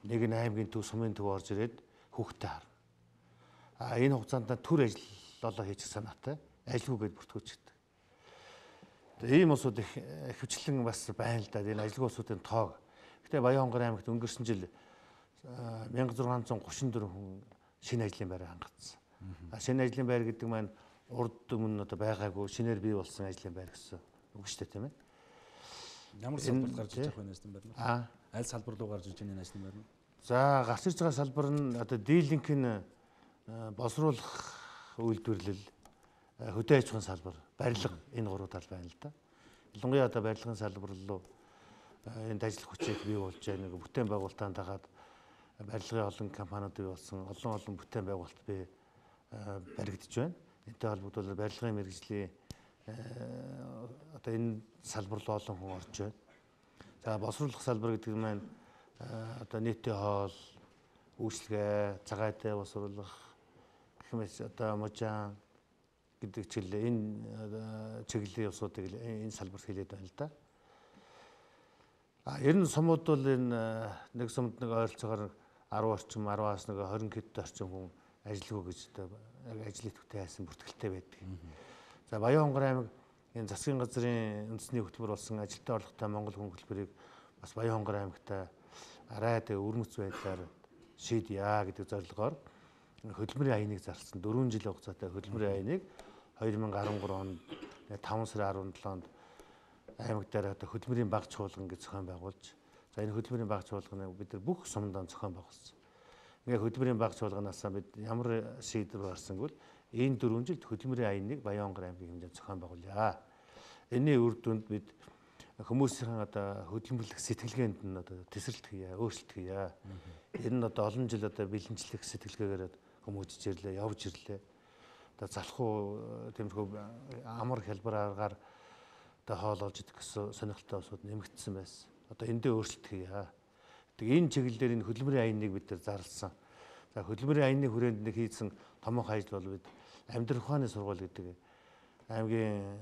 нэг нь аймгийн төв сумын төв орж ирээд хүүхдэд харна. А энэ хугацаанд төр ажиллалаа хийчих санаатай ажилгүйгээд бүртгүүлчихдэг. Ийм усууд их хвчлэн бас байна л да. Энэ ажилгүй усуудын тоог. Гэтэ Баянгар аймагт өнгөрсөн жил мянга зургаан зуун гуравчин дөрвөн хүн шинэ ажлын байраа хангацсан. Шинэ ажлын байр гэдэг маань урд өмнө одоо байгаагүй шинээр бий болсон ажлын байр гэсэн үг шүү дээ тийм ээ. Ямар салбарт гарч ирж байгаа вэ ажлын байр нь? Аа. Аль салбар руу гарч ирж байгаа энэ ажлын байр нь? За гарч ирж байгаа салбар нь одоо дийлэнхэнэ боловсруулах үйлдвэрлэл, хөдөө аж ахуйн салбар, барилга энэ гурав тал байна л да. Ялангуяа одоо барилгын салбар руу энд ажил хүчийг бий болж байгаа нэг бүтээн байгуулалтанд дагаад барилгын олон компаниуд бий болсон, олон олон бүтээн байгуулалт бий баригдаж байна. Энтэй холбогдуулаад барилгын мэргэжлийн одоо энэ салбар руу олон хүн орж байна. За боловсруулах салбар гэдэг нь маань одоо нийтийн хоол, үйлчлэгээ, цагаатай боловсруулах гэх мэт одоо можаан гэдэг чиглэл энэ чиглэлийн усуудыг энэ салбарт хэлээд байна л да. А ер нь сумууд бол энэ нэг сумд нэг ойролцоогоор арван орчим, араваас нэг хорин хэд орчим хүн ажилгүй гэж одоо яг ажил идэвхтэй хайсан бүртгэлтэй байдаг. За Баянгар аймаг энэ засгийн газрын үндэсний хөтөлбөр болсон ажилтны орлоготой Монгол хүн хөтөлбөрийг бас Баянгар аймагта арай тэ өрмөц байдлаар шийдъя гэдэг зорилгоор хөтөлбөрийн аяныг зарласан дөрвөн жилийн хугацаатай хөтөлбөрийн аяныг хоёр мянга арван гурав онд таван сарын арван долоонд аймаг дээр одоо хөтөлбөрийн баг чуулган гэж зохион байгуулж за энэ хөтөлбөрийн баг чуулганыг бид нар бүх сумдаа зохион байгуулсан. Ингээ хөтөлбөрийн баг чуулганаас бид ямар шийдвэр гарсан гэвэл энэ дөрвөн жилд хөтөлбөрийн аяныг Баянгар аймгийн хэмжээнд зохион байгуулъя. Энийн үр дүнд бид хүмүүсийн одоо хөдөлмөрлөх сэтгэлгээнд нь одоо тесрэлт хийя, өөрчлөлт хийя. Энэ нь одоо олон жил одоо бэлэнчлэх сэтгэлгээгээр хүмүүжж ирлээ, явж ирлээ. Одоо залхуу тиймэрхүү амар хялбар аргаар одоо хоол олж идэх гэсэн сонирхолтой усуд нэмэгдсэн байсан. Одоо эндээ өөрчлөлт хийя. Тэгээ энэ чиглэлээр энэ хөдөлмөрийн аяныг бид нар зарласан. За хөдөлмөрийн аянны хүрээнд нэг хийсэн томоохон ажил бол бид амьдрах ухааны сургууль гэдэг аймгийн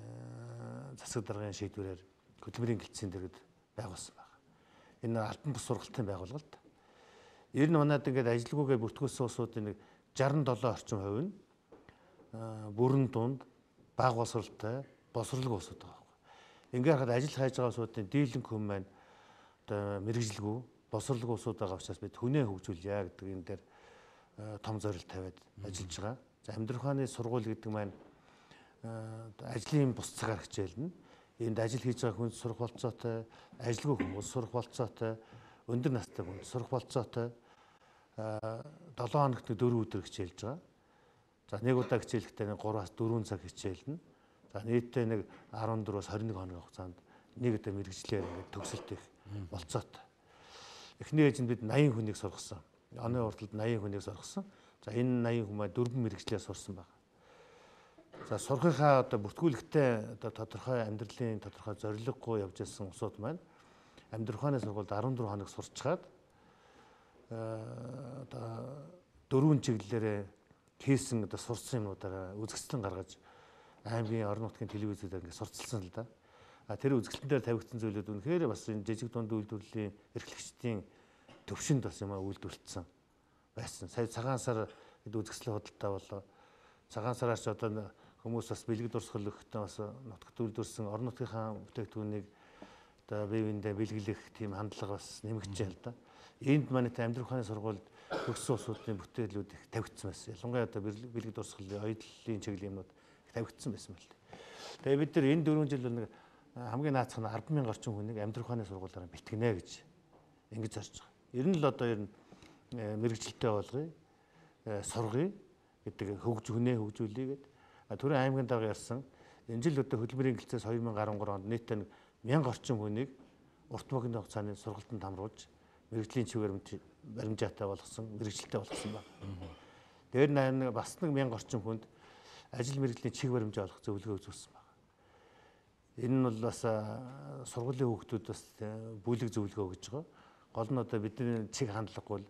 засаг даргын шийдвэрээр хөдөлмөрийн гэлтсийн дэргэд байгуулсан байна. Энэ албан бус сургалтын байгууллага. Ер нь манайд ингээд ажилгүйгээ бүртгүүлсэн усуудын нэг шестдесет долоо орчим хувь нь бүрэн дунд бага боловсролтой, боловсролгүй улсууд байгаа байхгүй. Ингээ харахад ажил хайж байгаа улсуудын дийлэнх хүн маань одоо мэрэгжилгүй, боловсролгүй улсууд байгаа учраас бид хүнээ хөгжүүлье гэдэг энэ дээр том зорилт тавиад ажиллаж байгаа. За амьдрах ухааны сургууль гэдэг маань ажлын бус цагаар хичээлнэ. Энд ажил хийж байгаа хүнд сурах болцоотой, ажилгүй хүмүүс сурах болцоотой, өндөр настай хүнд сурах болцоотой долоон хоногт дөрвөн өдөр хичээлж байгаа. За нэг удаа хичээлэхдээ гураас дөрвөн цаг хичээлнэ. За нийтдээ нэг арван дөрвөөс хорин нэг хоногийн хугацаанд нэг удаа мэрэгжлээр ингээд төгсөлт их болцоотой. Эхний ээжинд бид наян хүнийг сургасан. Оны урталд наян хүнийг сургасан. За энэ наян хүмүүс дөрвөн мэрэгчлээ сурсан байна. За сурхийнхаа одоо бүртгүүлэгтээ одоо тодорхой амьдралын тодорхой зорилгогүй явж ирсэн усуд маань амьдрах ухааны сургуульд арван дөрвөн хоног сурчгаад одоо дөрвөн чиглэлээр хийсэн одоо сурсан юмудаараа үзэсгэлэн гаргаж аймгийн орон нутгийн телевизээр ингээд сурталсан л да. А тэр үзэсгэлэн дээр тавигдсан зүйлүүд үнэхээр бас энэ жижиг дунд үйлдвэрлэлийн эрхлэгчдийн төвшөнд бас юм үйлдвэрлэсэн байсан. Сая цагаан сар хэд үзэсгэлэн худалдаа болоо. Цагаан сараас ч одоо хүмүүс бас бэлэг дурсгал өгөхтэй бас нутагт үйлдвэрсэн орон нутгийнхаа бүтээгдэхүүнийг одоо бие биендээ бэлгэлэх тийм хандлага бас нэмэгдэж байна л да. Энд манай амьдрах ухааны сургуульд төгссөн улсуудын бүтээлүүд их тавигдсан байсан. Ялангуяа одоо бэлэг дурсгалын оюутлын чиглэлийн юмнууд их тавигдсан байсан мэл. Тэгээ бид нар энэ дөрвөн жил нэг хамгийн наацх нь арван мянган орчим хүнийг амьдрах ухааны сургуулиараа бэлтгэнэ гэж ингэж зорж байгаа. Ер нь л одоо ер нь мэрэгжилтэй болгоё, сургая гэдэг хөгж хүнээ хөгжүүлье гэдэг. Түрэн аймгийн дарга ярьсан энэ жил одоо хөдөлмөрийн гэлцээс хоёр мянган арван гурав онд нийтдээ мянга орчим хүнийг урт богино хугацааны сургалтанд хамруулж мэрэгжлийн чиг баримжаатай болгосон, мэрэгжилтэй болгосон байна. Дээр нэг бас нэг мянга орчим хүнд ажил мэрэгжлийн чиг баримжаа олох зөвлөгөө үзүүлсэн байна. Энэ нь бол бас сургуулийн хүүхдүүд бас бүлэг зөвлөгөө өгж байгаа. Гол нь одоо бидний чиг хандлагагүй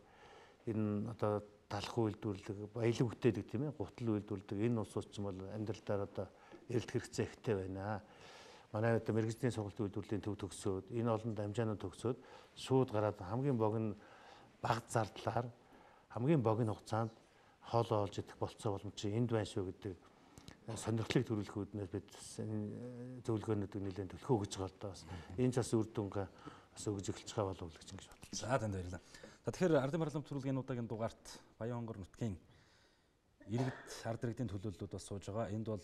энэ одоо талах үйлдвэрлэг, баялаг бүтээдэг тийм ээ, гутал үйлдвэрлэдэг энэ улсууд ч юм бол амьдралдаар одоо эрэлт хэрэгцээ ихтэй байна. Манай одоо мэрэгжлийн сургалт үйлдвэрлэлийн төв төгсөөд энэ олон дамжаанууд төгсөөд шууд гараад хамгийн богино бага зардлаар хамгийн богино хугацаанд хоолоо олж идэх болцоо боломж энд байна шүү гэдэг сонирхлыг төрүүлэх үүднээс бид зөвлөгөөнүүдийг нэлээд төлөхөө гэж байгаа л да бас энэ цас үр дүнгээ бас өгж эхэлж байгаа болов уу гэж ингэж бодлоо. За танд баярлалаа. За тэгэхээр ардын парламент төрүүлгийн удаагийн дугаарт Баян-Хонгор нутгийн иргэд ард иргэдийн төлөөллүүд бас сууж байгаа. Энд бол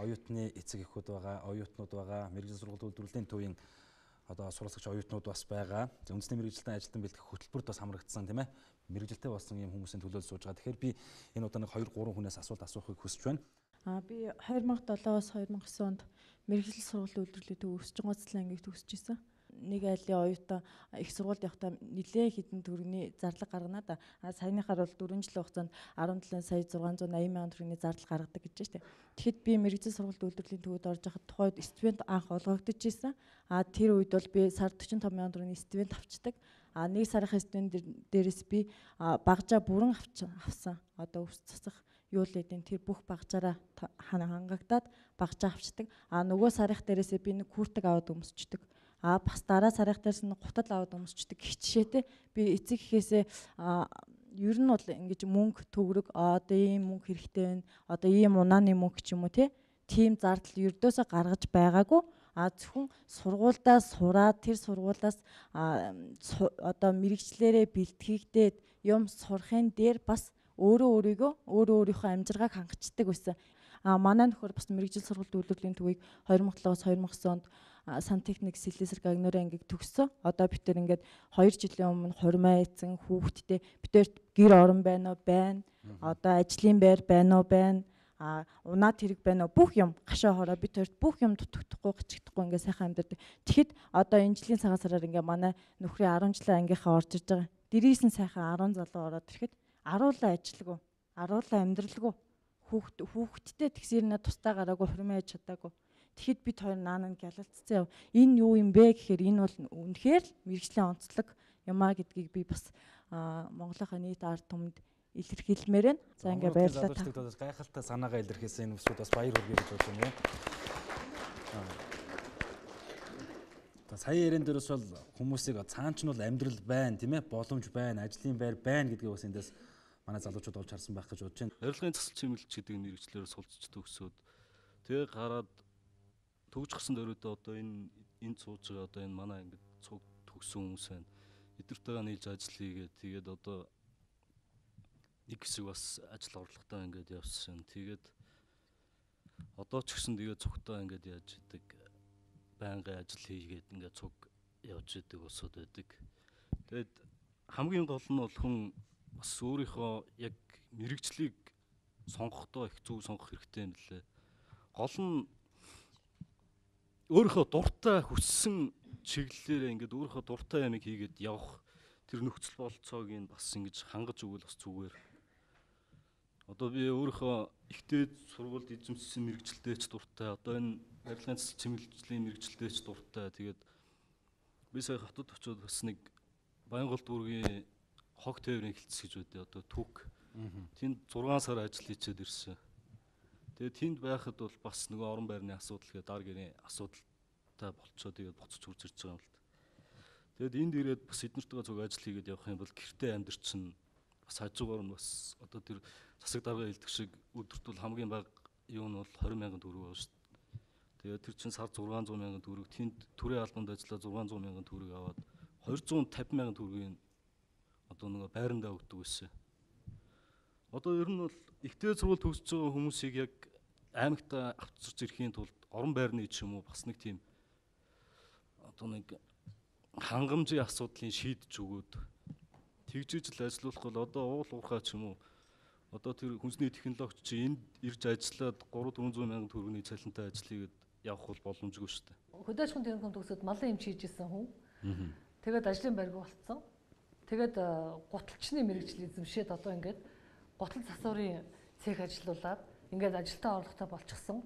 оюутны эцэг эхүүд байгаа, оюутнууд байгаа, мэрэгжил сургалт үйлдвэрлэлийн төвийн одоо суралцагч оюутнууд бас байгаа. За үндэсний мэрэгжилтэн ажилтан бэлтгэх хөтөлбөрт бас хамрагдсан тийм ээ. Мэрэгжилтэй болсон юм хүмүүсийн төлөөлөл сууж байгаа. Тэгэхээр би энэ удаа нэг хоёр гурван хүнээс асуулт асуухыг хүсэж байна. А би хоёр мянга долоос хоёр мянга девять онд мэрэгжил сургалт үйлдвэрлэлийн төв өсчин гоцлын ангийг төгсөж исэн. Нэг айлын оюутан их сургуульд явахдаа нэлээд хэдэн төгрөгийн зарлаг гаргана да. А саяныхаар бол дөрвөн жилийн хугацаанд арван долоо сая зургаан зуун восемь мянган төгрөгийн зардал гаргадаг гэж байна. Тэгэхэд би мэрэгжил сургалт үйлдвэрлэлийн төвөд орж байхад тухайд стипend анх олгогдож исэн. А тэр үед бол би сард forty-five мянган төгрөгийн стипend авчдаг. А нэг сарын стипend дээрээс би багжаа бүрэн авсан. Одоо өвс цацах юу л эдийн тэр бүх багжаараа хангагдаад багжаа авчдаг. А нөгөө сарих дээрээсээ би нэг хүртэг аваад өмсчдөг. А бас дараа сарих дээрс нь гутал аваад өмсчдөг хичээтэй би эцэг ихээсээ ер нь бол ингэж мөнгө төгрөг одоо ийм мөнгө хэрэгтэй байна. Одоо ийм унааны мөнгө ч юм уу тийм зардал ердөөсөө гаргаж байгаагүй. А зөвхөн сургуульдаа сураад тэр сургуулаас одоо мэрэгчлэрээ бэлтгэгдээд юм сурахын дээр бас өөрөө өөрийгөө өөрөө өөрийнхөө амжиргааг хангацдаг байсан. А манай нөхөр бас мэрэгжил сургалт үйлдвэрлэлийн төвийг хоёр мянга долоос хоёр мянга девять онд сантехник слесарь гагнуурын ангийг төгссөн. Одоо бид тээр ингээд хоёр жилийн өмнө хурмаа эцэн хүүхдтэй бид тээр гэр орон байна уу байна. Одоо ажлын байр байна уу байна. А унаа тэрэг байна уу бүх юм гашаа хороо бид тээр бүх юм дутагдахгүй гिचгдахгүй ингээд сайхан амьдардаг. Тэгэхэд одоо энэ жилийн цагаан сараар ингээд манай нөхрийн арван жилийн ангийнхаа орж иж байгаа. Дээрээс нь сайхан арван залуу ороод ирэхэд аруулаа ажилгүй, аруулаа амьдралгүй. Хүүхд хүүхдтэй тэгсэрнэ тустай гараагүй хурмаа ээж чадаагүй. Тэгэхэд бид хоёр наанаа гялалцсан. Энэ юу юм бэ гэхээр энэ бол үнэхээр мэрэгжлийн онцлог юмаа гэдгийг би бас Монголынхаа нийт ард түмэнд илэрхийлмээр байна. За ингээ баярлалаа. Гайхалтай санаагаа илэрхийлсэн энэ бүсүүд бас баяр хүргэе гэж бодож байна. Та сая ярен дээрээс бол хүмүүсийг цаанч нь бол амьдрал байна тийм ээ, боломж байна, ажлын байр байна гэдгийг бас эндээс манай залуучууд олж харсан байх гэж бодож байна. Арилгын засал чимэглэлч гэдэг мэрэгчлэрээр суулцж төгсөөд Тэгээ гараад төгжчихсэн дөрөвдөө одоо энэ энд сууж байгаа одоо энэ манай ингээд цуг төгсөн хүмүүс байна. Эдгэртэйгээ нийлж ажил хийгээд тэгээд одоо нэг хэсэг бас ажил орлоготой ингээд явсан. Тэгээд одоо ч гэсэн тэгээд цугтаа ингээд яаж идэг байнгын ажил хийгээд ингээд цуг явж идэг усуд байдаг. Тэгээд хамгийн гол нь бол хүн бас өөрийнхөө яг мэрэгжлийг сонгохдоо их зөв сонгох хэрэгтэй юм лээ. Гол нь өөрийнхөө дуртай хүссэн чиглэлээр ингээд өөрийнхөө дуртай ямиг хийгээд явах тэр нөхцөл бололцоог нь бас ингэж хангаж өгвөл бас зүгээр. Одоо би өөрийнхөө ихтэй сургуульд эзэмшсэн мэрэгчлэлтэй ч дуртай. Одоо энэ барилгын цэцэл чимэглэлийн мэрэгчлэлтэй ч дуртай. Тэгээд би сая хотод очиод бас нэг Баянголд дүүргийн хог тээврийн хэлтс гэж байдیں۔ Одоо түүх. Тэнд зургаан сар ажил хийчихэд ирсэн. Тэгээд тэнд байхад бол бас нөгөө орон байрны асуудал гэдэг дар гэрийн асуудалтай болцоо тэгээд буцаж хурж ирж байгаа юм л та. Тэгээд энд ирээд бас эднэртэйгээ зөв ажил хийгээд явах юм бол гэртээ амьдр чинь бас хажуугаар нь бас одоо тэр засаг дарга хэлдэг шиг өдөрт бол хамгийн бага юу нь бол двадцать мянган төгрөг байна шүү дээ. Тэгээд тэр чинь сар зургаан зуун мянган төгрөг, тэнд төрийн албанд ажиллаа зургаан зуун мянган төгрөг аваад двести тавин мянган төгрөгийн одоо нөгөө байрандаа өгдөг байсан. Одоо ер нь бол ихтэй сургууль төгсөж байгаа хүмүүсийг яг аймагтаа авчирч ирэхийн тулд орон байрны ч юм уу бас нэг тийм одоо нэг хангамжийн асуудлыг шийдэж өгөөд тэгжиж л ажиллах бол одоо уул уурхай ч юм уу одоо тэр хүнсний технологич чи энд ирж ажиллаад три дөрвөн мянган төгрөгийн цалинтай ажил хийгээд явах бол боломжгүй шүү дээ. Хөдөө аж ахуйн техникум төгсөөд малын эмч хийж исэн хүн. Тэгээд ажлын байргүй болцсон. Тэгээд гуталчны мэрэгжил эзэмшээд одоо ингээд гутал засварын цех ажиллаулаад ингээд ажилтаа орлоготой болчихсон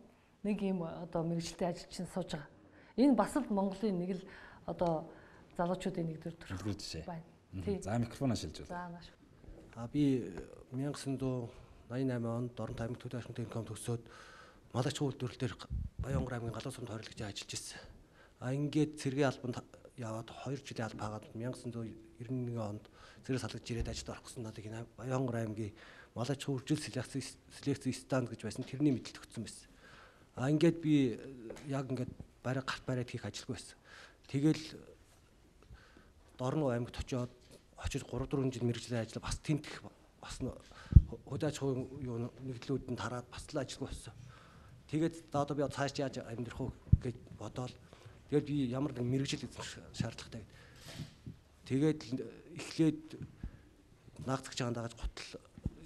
нэг юм одоо мэрэгжилтэй ажилчин сууж байгаа. Энэ бас л Монголын нэг л одоо залуучуудын нэг төр төрх байна. За микрофоноо шилжүүл. За маш. А би 천구 восемьдесят восемь онд Дорнот аймаг Хөдөө аж ахуйн техникум төгсөөд Малагч үйлдвэрлэл дээр Баянгор аймгийн Галуу сумд хоригдож ажиллаж ирсэн. А ингээд цэргийн албанд яваад хоёр жилийн алба хагаад 천구 девяносто один онд цэрэг салгаж ирээд ажилд орох гэсэн надад энэ Баянгор аймгийн Малагч үйлдвэрлэл селекцийн станд гэж байсан тэрний мэдлэлт өгсөн байсан. А ингээд би яг ингээд бараг гарт барайд хийх ажилгүй байсан. Тэгэл Дорноо аймагт очиод очиж три дөрвөн жил мэргэжлийн ажил бас тэмдэх бас хөдөө аж ахуйн юу нэгдлүүдэнд хараад бас л ажилгүй болсон. Тэгээд одоо би цааш яаж амьдрах вэ гэж бодоод тэгээд би ямар нэг мэргэжил эзэмших шаардлагатай байд. Тэгээд эхлээд наагцч чагаан дагаж гутал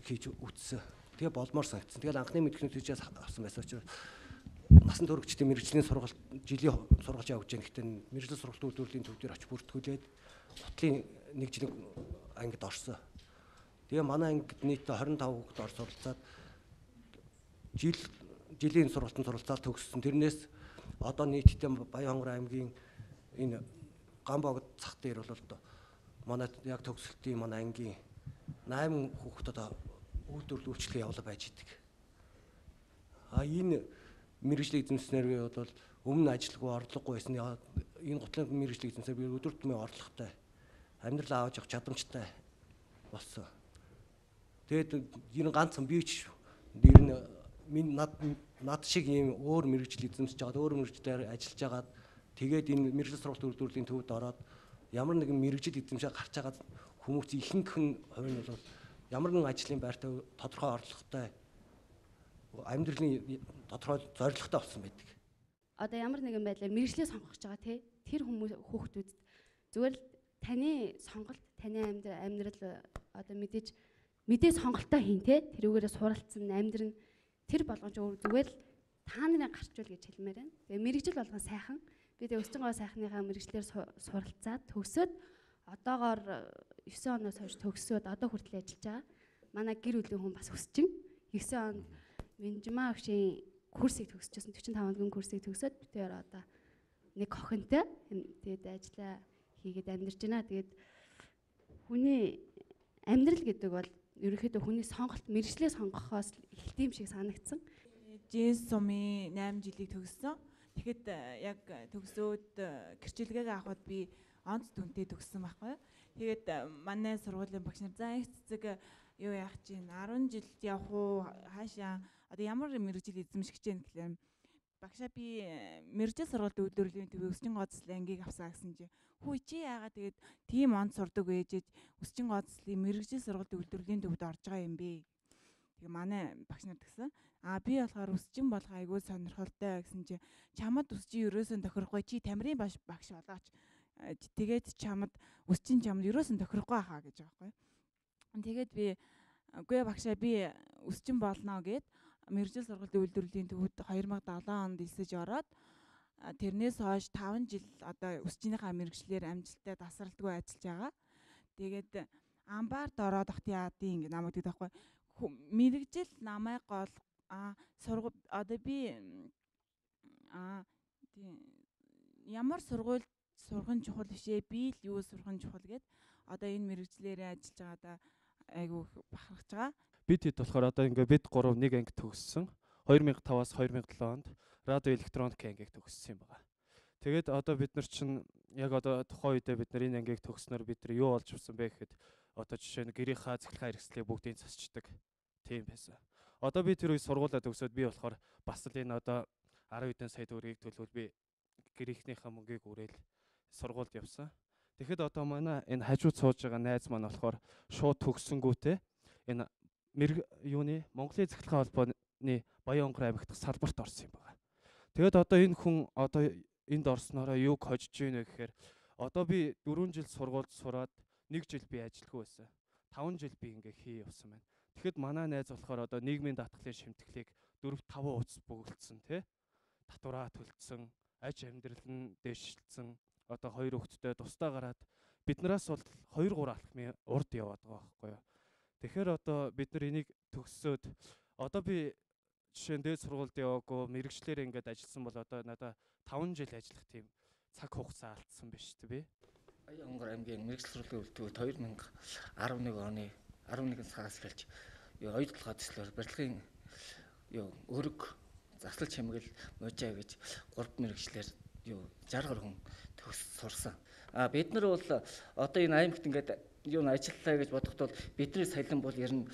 хийж үтсэн. Тэгээ болмоор санагдсан. Тэгээд анхны мэдхний төжөөс авсан байсан учраас насан туршидтын мэргэжлийн сургалт жилийн сургалт явуулж байгаа. Гэхдээ мэргэжлийн сургалт үйлдвэрлэлийн төв дээр очиж бүртгүүлээд гутлын нэг жилийн ангид орсон. Тэгээ манай ангид нийт двадцать пять хүүхэд ор суралцаад жил жилийн сургалтанд суралцаад төгссөн. Тэрнээс одоо нийтдээ Баянгор аймгийн энэ Гамбогд цах дээр бол манай яг төгсөлтийн манай ангийн восемь хүүхэд одоо үйлдвэрлэл үйлчлэгээ явуулаад байж идэг. А энэ мэргэжлийн эзэмснээр бол өмнө ажилгүй орлогогүй байсан. Энэ гутлын мэргэжлийн эзэмснээр би өдөр тутмын орлоготой амьдрал авч явах чадамжтай болсон. Тэгээд энэ ганцхан би ч ер нь минь над над шиг ийм өөр мэргэжил эзэмсэж байгаа, өөр мэргэжлээр ажиллаж байгаад тэгээд энэ мэргэжил сургалт үйлдвэрлэлийн төвд ороод ямар нэгэн мэргэжил эзэмшээ гарч байгаа хүмүүс ихэнх нь хувь нь бол ямар нэгэн ажлын байртай тодорхой орлоготой амьдралын тодорхой зорилготой болсон байдаг. Одоо ямар нэгэн байдлаар мэргэжлээ сонгох гэж байгаа тий тэр хүмүүс хүүхдүүд зүгээр л таны сонголт, таны амьдрал одоо мэдээж мэдээ сонголтоо хийн тий тэрүүгээрээ суралцсан амьдрын тэр болгоомж зүгээр л та нарын гарчвал гэж хэлмээр байна. Тэгээ мэргэжил болгон сайхан. Би тэгээ өсчөнгөө сайхныхаа мэргэжлэр суралцаад төгсөөд одоогоор девять оноос хойш төгсөөд одоо хүртэл ажиллаж байгаа. Манай гэр бүлийн хүн бас өсчин. девять онд Минжмаа өгшийн курсыг төгсөжсэн forty-five өдрийн курсыг төгсөөд битээр одоо нэг охинтой тэгээд ажиллаа хийгээд амьдарч байна. Тэгээд хүний амьдрал гэдэг бол ерөнхийдөө хүний сонголт мэргэжлээ сонгохоос эхэлт юм шиг санагдсан. Жинс сумын eight жилийг төгссөн. Тэгэхэд яг төгсөөд гэрчлэгээ авахд би онц дүнтэй төгссөн байхгүй. Тэгээд манай сургуулийн багш нар за их цэцэг юу яах чинь ten жилд явах уу хаашаа одоо ямар мэргэжил эзэмших гэж байна гэхлээр багшаа би мэрэгжил сургалтын үйлдвэрлэлийн төвийн өсчин гоцлын ангийг авсаа гэсэн чи хүү чи яагаад тэгээд тийм онд сурдаг ээжэж өсчин гоцлын мэрэгжил сургалтын үйлдвэрлэлийн төвд орж байгаа юм бэ? Тэгээ манай багш нар гэсэн аа би болохоор өсчин болох айгүй сонирхолтой гэсэн чи чамд өсчин ерөөсөн тохирохгүй чи тамирын багш багш болооч тэгээд чамд өсчин чамд ерөөсөн тохирохгүй хаа гэж байгаа байхгүй. Тэгээд би үгүй багшаа би өсчин болно гэд мэрэгжил сургалтын үйлдвэрлэлийн төвд хоёр мянга долоо онд элсэж ороод тэрнээс хойш таван жил одоо өсчийнхаа мэрэгчлэр амжилттай тасралтгүй ажиллаж байгаа. Тэгээд амбарт ороод ахт яадын ингэ намайг гэдэг байхгүй. Мэрэгжил намайг гол а сургууль одоо би а ямар сургууль сурах нь чухал бишээ би л юу сурах нь чухал гэд одоо энэ мэрэгчлэрээ ажиллаж байгаадаа айгу бахархаж байгаа. Бид хэд болохоор одоо ингээ бид гурав нэг анги төгссөн. хоёр мянга таваас хоёр мянга долоо онд радио электроник ангийг төгссөн юм байна. Тэгээд одоо бид нар чинь яг одоо тухайн үедээ бид нар энэ ангийг төгснөр бид нар юу болж авсан бэ гэхэд одоо жишээ нь гэрийнхаа цэглэхаа хэрэгслийг бүгдийг засчдаг тийм байсан. Одоо би тэр үе сургуулаа төгсөөд би болохоор бас л энэ одоо арав хэдэн сая төгрөгийг төлөвлөл би гэрийнхнийхээ мөнгийг өрөөл сургуульд явсан. Тэгэхэд одоо манай энэ хажууд сууж байгаа найз маань болохоор шууд төгссөнгүүтээ энэ мэрэг юуны Монголын цэглэхээ холбооны Баян-Онгор аймагт салбарт орсон юм байна. Тэгэд одоо энэ хүн одоо энд орсноороо юг хожиж гинэ гэхээр одоо би дөрвөн жил сургуульд сураад нэг жил би ажилгүй байсан. таван жил би ингээ хий явсан байна. Тэгэхэд манай найз болохоор одоо нийгмийн даатгалын шимтгэлийг дөрөв таван уц бөглөсөн тий. Татвараа төлцсөн, аж амьдрал нь дэвшилсэн. Одоо хоёр хүүхэдтэй тусдаа гараад биднээс бол хоёр гурван алхмын урд яваад байгаа байхгүй юу. Тэгэхээр одоо бид нар энийг төгссөөд одоо би жишээ нь дээд сургуульд яваагүй мэрэгчлэр ингээд ажилласан бол одоо надаа таван жил ажиллах тийм цаг хугацаа алдсан биш үү би. Баян-Онгор аймгийн мэрэгжил сургуулийн үйлдвэрт хоёр мянга арав нэг оны арав нэгэн сараас эхэлж юу оюутлага төслөөр барилгын юу өрг заслал чимгэл можаа гэж гурав мэрэгчлэр юу жаргал хүн төгс сурсан. А бид нар бол одоо энэ аймагт ингээд юу н ажиллалаа гэж бодоход бол бидний салин бол ер нь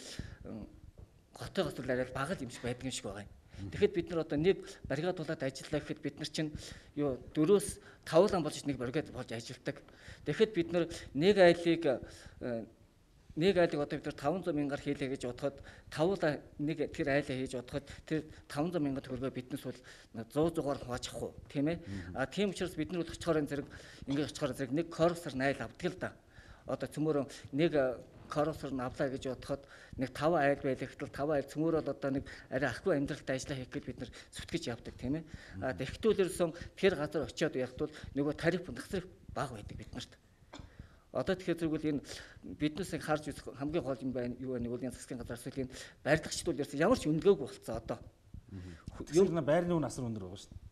хотоогоос л арай бага л юм шиг байдаг юм шиг байгаа юм. Тэгэхэд бид нар одоо нэг бригадуулаад ажиллаа гэхэд бид нар чинь юу дөрөөс тавлан болж нэг бригад болж ажилладаг. Тэгэхэд бид нар нэг айлыг нэг айлыг одоо бид нар таван зуун мянгаар хийлээ гэж бодоход тавлаа нэг тэр айлаа хийж бодоход тэр таван зуун мянга төгрөгөө биднээс бол зуун зугаар хувааж авах уу тийм ээ. А тийм учраас бид нар бол очихоор зэрэг ингээд очихоор зэрэг нэг корсор найл авдаг л да. Одоо цөмөрөө нэг корсор нь авлаа гэж бодоход нэг таван айл байлаа гэтэл таван айл цөмөрөө л одоо нэг арай ахгүй амьдралтай ажиллаа хийх гэж бид нар зүтгэж явдаг тийм ээ. А тэгтүүлэрсэн тэр газар очиод явахд бол нөгөө тариф насрах бага байдаг бид нарт. Одоо тэгэхээр зэрэгэл энэ биднээс харж үзэх хамгийн гол юм байна юу нэг үлийн засгийн газар эсвэл энэ барилгачд бол ярьсан ямар ч үнэлгээгүй болцсон одоо. Юу нэг байрны үн асар өндөр байгаа шүү дээ.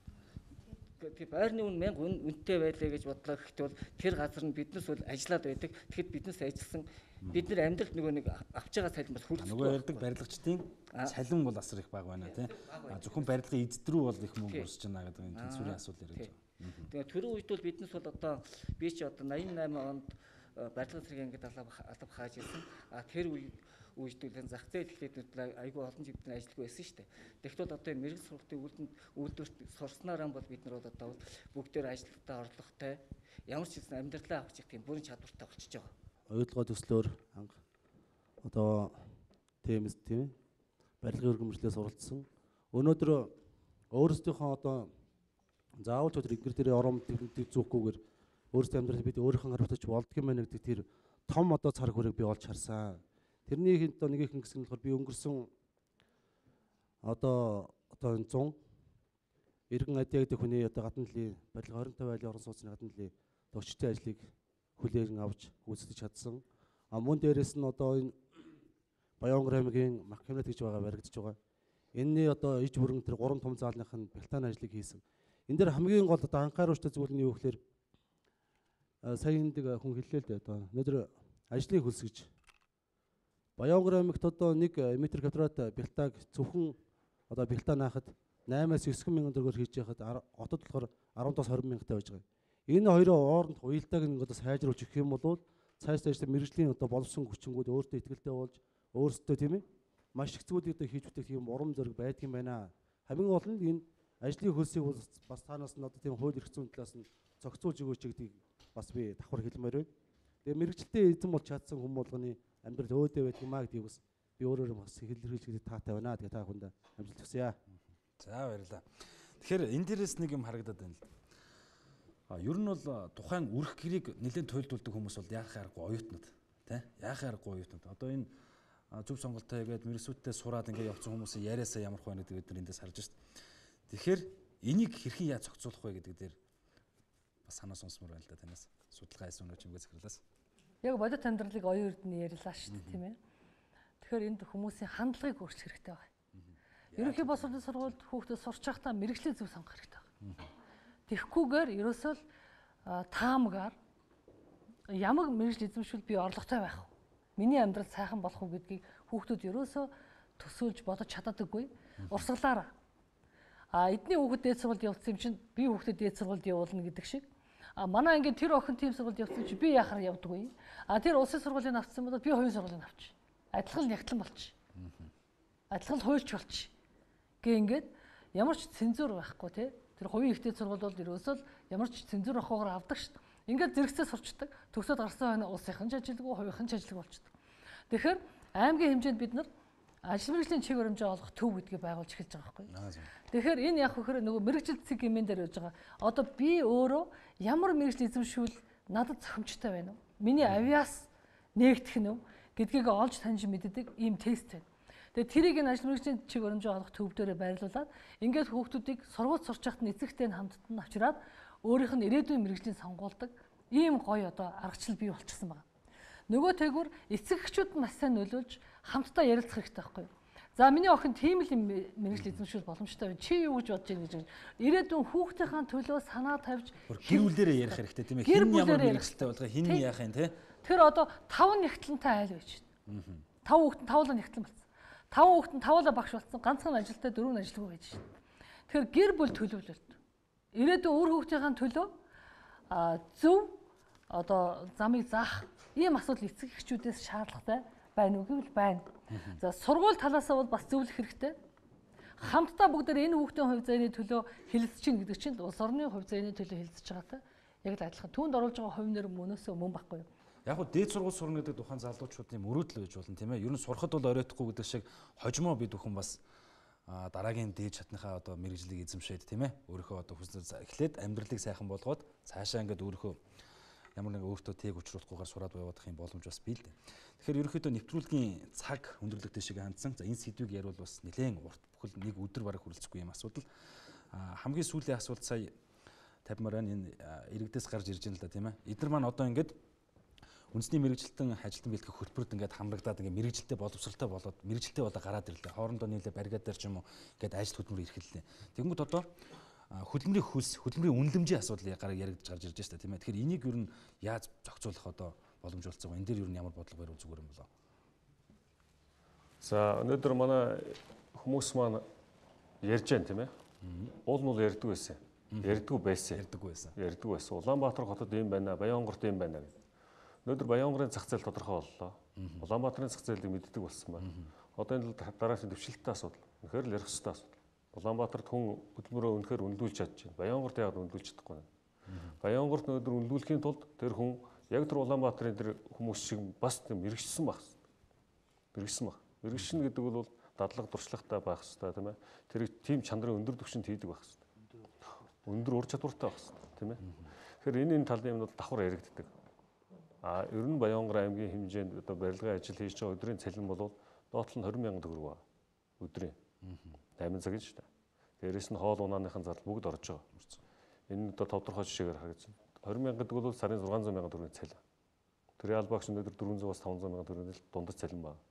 Тэгээ байрны үн мянга үнэтэй байлаа гэж бодлоо гэхдээ бол тэр газар нь биднээс бол ажиллаад байдаг. Тэгэхэд биднээс ажилласан бид нар амьдралд нөгөө нэг авч байгаа салин бас хүрэх. Нөгөө ярьдаг барилгачдын салин бол асар их бага байна тийм. А зөвхөн барилгын эзэдрүү бол их мөнгө өрсөж байна гэдэг энэ тэнцвэрийн асуудал яриад байна. Тэгээ түрүү үед бол биднээс бол одоо би чи одоо найман найман онд барилгын зэрэг ингээд алба хааж ирсэн. А тэр үе үйлдвэрлэлийн зах зээл хэлээд айгүй олон жил бид нар ажиллагүй байсан шүү дээ. Тэгэхдээ одоо энэ мэрэгжил сургалтын үйлдвэрт үйлдвэрт сурснараа бол бид нар одоо бүгдээр ажилтнаа орлоготой ямар ч зүйл амьдралаа авчих тийм бүрэн чадвартай болчихж байгаа. Оюутлага төслөөр анх одоо темэс тийм барилгын өргөмжлөлөөс суралцсан. Өнөөдөр өөрсдийнхөө одоо заавал ч өдөр ингэр дээр ором төвлөдөг зүгхгүйгээр өөрсдөө амьдрал бид өөрийнхөө хариуцаж болдго юм байна гэдэг тэр том одоо цар хүрээг би олж харсан. Тэрний хэд одоо нэг их гэсэн нь болохоор би өнгөрсөн одоо одоо цон Иргэн Адя гэдэг хүний одоо гадна талын барилга хорин тавь айлын орон сууцны гадна талын төгчтэй ажлыг хүлээн авч гүйцэтгэж чадсан. А мөн дээрэс нь одоо энэ Баян-Онгор аймгийн Маккемнет гэж байгаа баригдаж байгаа. Энэний одоо иж бүрэн тэр гурван том заалных нь бэлтааны ажлыг хийсэн. Энд дээр хамгийн гол одоо анхааруулжтай зүйл нь юу гэхээр сая энэ хүн хэллээ л дээ одоо өнөөдөр ажлыг хөлсгөж Баян-Онгор аймагт одоо нэг метр квадрат бэлтааг зөвхөн одоо бэлтаа наахад наймаас девять мянган төгрөгөөр хийж яхад хотод болохоор арван двадцать мянгантай байж байгаа. Энэ хоёрын хооронд уялдааг нэг одоо сайжруулж өгөх юм бол цааш цааш мэрэгжлийн одоо боловсон хүчингүүд өөртөө ихтэй болж өөрсдөө тийм ээ маш их зүйлийг одоо хийж бүтээх тийм урам зориг байдаг юм байна. Хамгийн гол нь энэ ажлын хөлсийг бол бас танаас нь одоо тийм хууль эрх зүйн талаас нь зохицуулж өгөөч гэдгийг бас би давхар хэлмээр байна. Тэгээ мэрэгчлээ эзэн болж чадсан хүн болгоны амьдрал өөдөө байдаг юм а гэдгийг бас би өөрөөр бас хэлэлцэж хэлэх таатай байна. Тэгээ та бүхэнд амжилт хүсье. За баярлалаа. Тэгэхээр энэ дээрээс нэг юм харагдаад байна л. А ер нь бол тухайн үрх гэрийг нэлээд туйлдуулдаг хүмүүс бол яахын аргагүй оюутнууд тий яахын аргагүй оюутнууд. Одоо энэ зөв сонголтоо хийгээд мэрэгсүүдтэй сураад ингээд явцсан хүмүүсийн яриасаа ямар хөө гэдэг бид нар эндээс харж байна. Тэгэхээр энийг хэрхэн яаж зохицуулах вэ гэдэг дээр бас санаа сонсмор байна л да танаас. Судалгаа хийсэн өнөө чимгээ захирлаас. Яг бодит амьдралыг оюун эрдэнэ ярьлаа шүү дээ тийм ээ. Тэгэхээр энд хүмүүсийн хандлагыг өөрчлөх хэрэгтэй байна. Ерөнхий боловсролын сургуульд хүүхдүүд сурч байхдаа мэрэгчлээ зөв сонгох хэрэгтэй байна. Тэгэхгүйгээр ерөөсөө л таамгаар ямар мэрэгжил эзэмшүүл би орлоготой байх вэ? Миний амьдрал сайхан болох уу гэдгийг хүүхдүүд ерөөсөө төсөөлж бодож чаддаггүй. Урсгалаараа. А эдний хүүхэд дээд сургуульд явуулсан юм чинь би хүүхдэд дээд сургуульд явуулна гэдэг шиг. А манай ингээд тэр охин тийм сургуульд явуулсан чи би яхаар явдаггүй. А тэр улсын сургуулийн авсан бол би хувийн сургуулийн авч. Адилхан нягтлан болчих. Адилхан хуульч болчих. Гэ ингээд ямар ч цензур байхгүй тий. Тэр хувийн ихтэй сургууль бол ерөөсөө л ямар ч цензур авахгүйгээр авдаг шүү дээ. Ингээд зэрэгцээ сурчдаг. Төгсөөд гарсан хойно улсынхан ч ажилгүй, хувийнхан ч ажилгүй болчихдог. Тэгэхээр аймгийн хэмжээнд бид нар ажил мэргэжлийн чиг баримжаа олгох төв гэдгийг байгуулж эхэлж байгаа байхгүй. Тэгэхээр энэ яг хөөр нөгөө мэргэжил цэг хэмээн дээр явж байгаа. Одоо би өөрөө ямар мэргэжил эзэмшүүл надад зохимжтой байна уу? Миний авиас нээгдэх нь үү гэдгийг олж таньж мэддэг ийм тест байна. Тэгээ тэрийг энэ ажил мэргэжлийн чиг баримжаа олгох төв дээрээ байрлуулад ингээд хүүхдүүдийг сургууль сурч байхад эцэгтэй нь хамттан авчираад өөрийнх нь ирээдүйн мэргэжлийн сонгуулдаг ийм гоё одоо аргачлал бий болчихсон байна. Нөгөө тэгвэр эцэгчүүд нь маш сайн нөлөөлж хамтдаа ярилцах хэрэгтэй байхгүй юу? За миний охин тийм л мэргэжил эзэмшүүл боломжтой байна. Чи юу гэж бодож байна гэж. Ирээдүйн хүүхдийнхээ төлөө санаа тавьж гэр бүлээрээ ярих хэрэгтэй тийм ээ. Хин ямар мэргэжилтэй болгоо хин яах юм те? Тэр одоо таван нягтлантай айл байж байна. Тав хүүхэд тавлаа нягтлан болсон. Тав хүүхэд нь тавлаа багш болсон. Ганцхан ажилтай дөрөв нь ажилгүй байж байна. Тэгэхээр гэр бүл төлөвлөлт. Ирээдүйн үр хүүхдийн төлөө зөв одоо замыг заах ийм асуудал эцэг эхчүүдээс шаардлагатай байна уу гэвэл байна. За сургууль талаасаа бол бас зөвлөх хэрэгтэй. Хамтдаа бүгдээр энэ хүүхдийн хувь заяаны төлөө хэлэлцэж чинь гэдэг чинь улс орны хувь заяаны төлөө хэлэлцэж байгаатай яг л адилхан. Түүнд оруулж байгаа хувь нэр мөнөөсөө мөн байхгүй юу? Яг хөө дээд сургууль сурна гэдэг тухайн залуучуудын мөрөөдөл байж болно тийм ээ. Ер нь сурахад бол оройтхгүй гэдэг шиг хожимоо бид бүхэн бас дараагийн дээд шатныхаа одоо мэрэгжлийг эзэмшээд тийм ээ. Өөрийнхөө одоо хүснээр эхлээд амьдралыг сайхан болгоод цаашаа ингээд өөрийнхөө ямар нэг өөртөө тийг учруулахгүйгээр сураад явах юм боломж бас бий л дээ. Тэгэхээр ерөнхийдөө нэвтрүүлгийн цаг өндөрлөгтэй шиг хандсан. За энэ сэдвийг ярил бас нэлээд урт бүхэл нэг өдөр бараг хүрэлцэхгүй юм асуудал. Хамгийн сүүлийн асуулт сая тавьмаар байна. Энэ иргэдээс гарч ирж байна л да тийм ээ. Эдгээр маань одоо ингээд үндэсний мэрэгжилтэн ажилтан бэлтгэх хөтөлбөрт ингээд хамрагдаад ингээд мэрэгжилтэй боловсралтай болоод мэрэгжилтэй болоо гараад ирлээ. Хоорондоо нийлээ баригад дээр ч юм уу ингээд ажил хөтөлбөр эрхэллээ. Тэгэнгүүт одоо хөдөлмөрийн хөлс, хөдөлмөрийн үнэлэмжийн асуудал яригдж гарч ирж байна тийм ээ. Тэгэхээр энийг ер нь яаж зохицуулах одоо боломж олцсон вэ? Энэ дээр ер нь ямар бодлого бариул зүгээр юм болоо? За өнөөдөр манай хүмүүс маань ярьж байна тийм ээ. Уул мул ярьдгүй байсан. Ярьдгүй байсан. Ярьдгүй байсан. Ярьдгүй байсан. Улаанбаатар хотод ийм байна, Баянгорт ийм байна гэх. Өнөөдөр Баянгорын зах зээл тодорхой боллоо. Улаанбаатарын зах зээлийг мэддэг болсон байна. Одоо энэ дараагийн дэвшилттэй асуудал. Үнэхээр л ярих хэрэгтэй асуудал. Улаанбаатарт хүн хөдөлмөрөө үнэхээр үнэлүүлж чадж байна. Баянгорт яг үнэлүүлж чадахгүй байна. Баянгорт өнөөдөр үнэлүүлэхийн тулд тэр хүн яг тэр Улаанбаатарын тэр хүмүүс шиг бас мэрэгчсэн байх хэрэгтэй. Мэрэгчсэн байх. Мэрэгчсэн гэдэг бол дадлага дуршлагтай байх хэрэгтэй тийм ээ. Тэр тийм чанарын өндөр түвшинд хийдэг байх хэрэгтэй. Өндөр ур чадвартай байх хэрэгтэй тийм ээ. Тэгэхээр энэ энэ талын юмнууд давхар яригддаг. А ер нь Баянгор аймгийн хэмжээнд одоо барилгын ажил хийж байгаа өдрийн цалин бол доотлол нь двадцать мянган төгрөг ба өдрийн восемь цагийн шүү дээ. Дээрээс нь хоол унааныхан зардал бүгд орж байгаа. Энэ одоо тодорхой жишээгээр харагдсан. двадцать мянган гэдэг бол сарын шix hundred мянган төгрөгийн цалин. Тэр ялбагч өнөөдөр four hundred-аас five hundred мянган төгрөгийн дундаж цалин байна.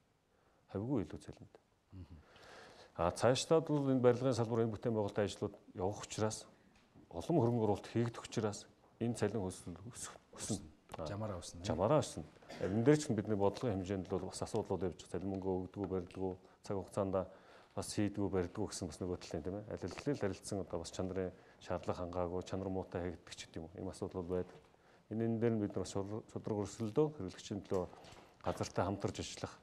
Хавьгүй илүү цалинт. А цаашдаа бол энэ барилгын салбар энэ бүтээн байгуулалтын ажлууд явах учраас олон хөрөнгө оруулалт хийгдэх учраас энэ цалин өснө. Жамаараа өснө. Жамаараа өснө. Энэ дээр ч бидний бодлогын хэмжээнд бол бас асуудлууд явж байгаа. Цалин мөнгө өгдөггүй, барилдаггүй, цаг хугацаанд бас хийдгүү барьдгүү гэсэн бас нөгөө талын тийм ээ. Аль аль харилцсан одоо бас чанарын шаардлага хангаагүй, чанар муутай хийгдэх ч юм уу. Ийм асуудал бол байдаг. Энэ энэ дээр нь бид нар шудраг өрсөлдөө хэрэглэгчийн төлөө газартай хамтарч ажиллах,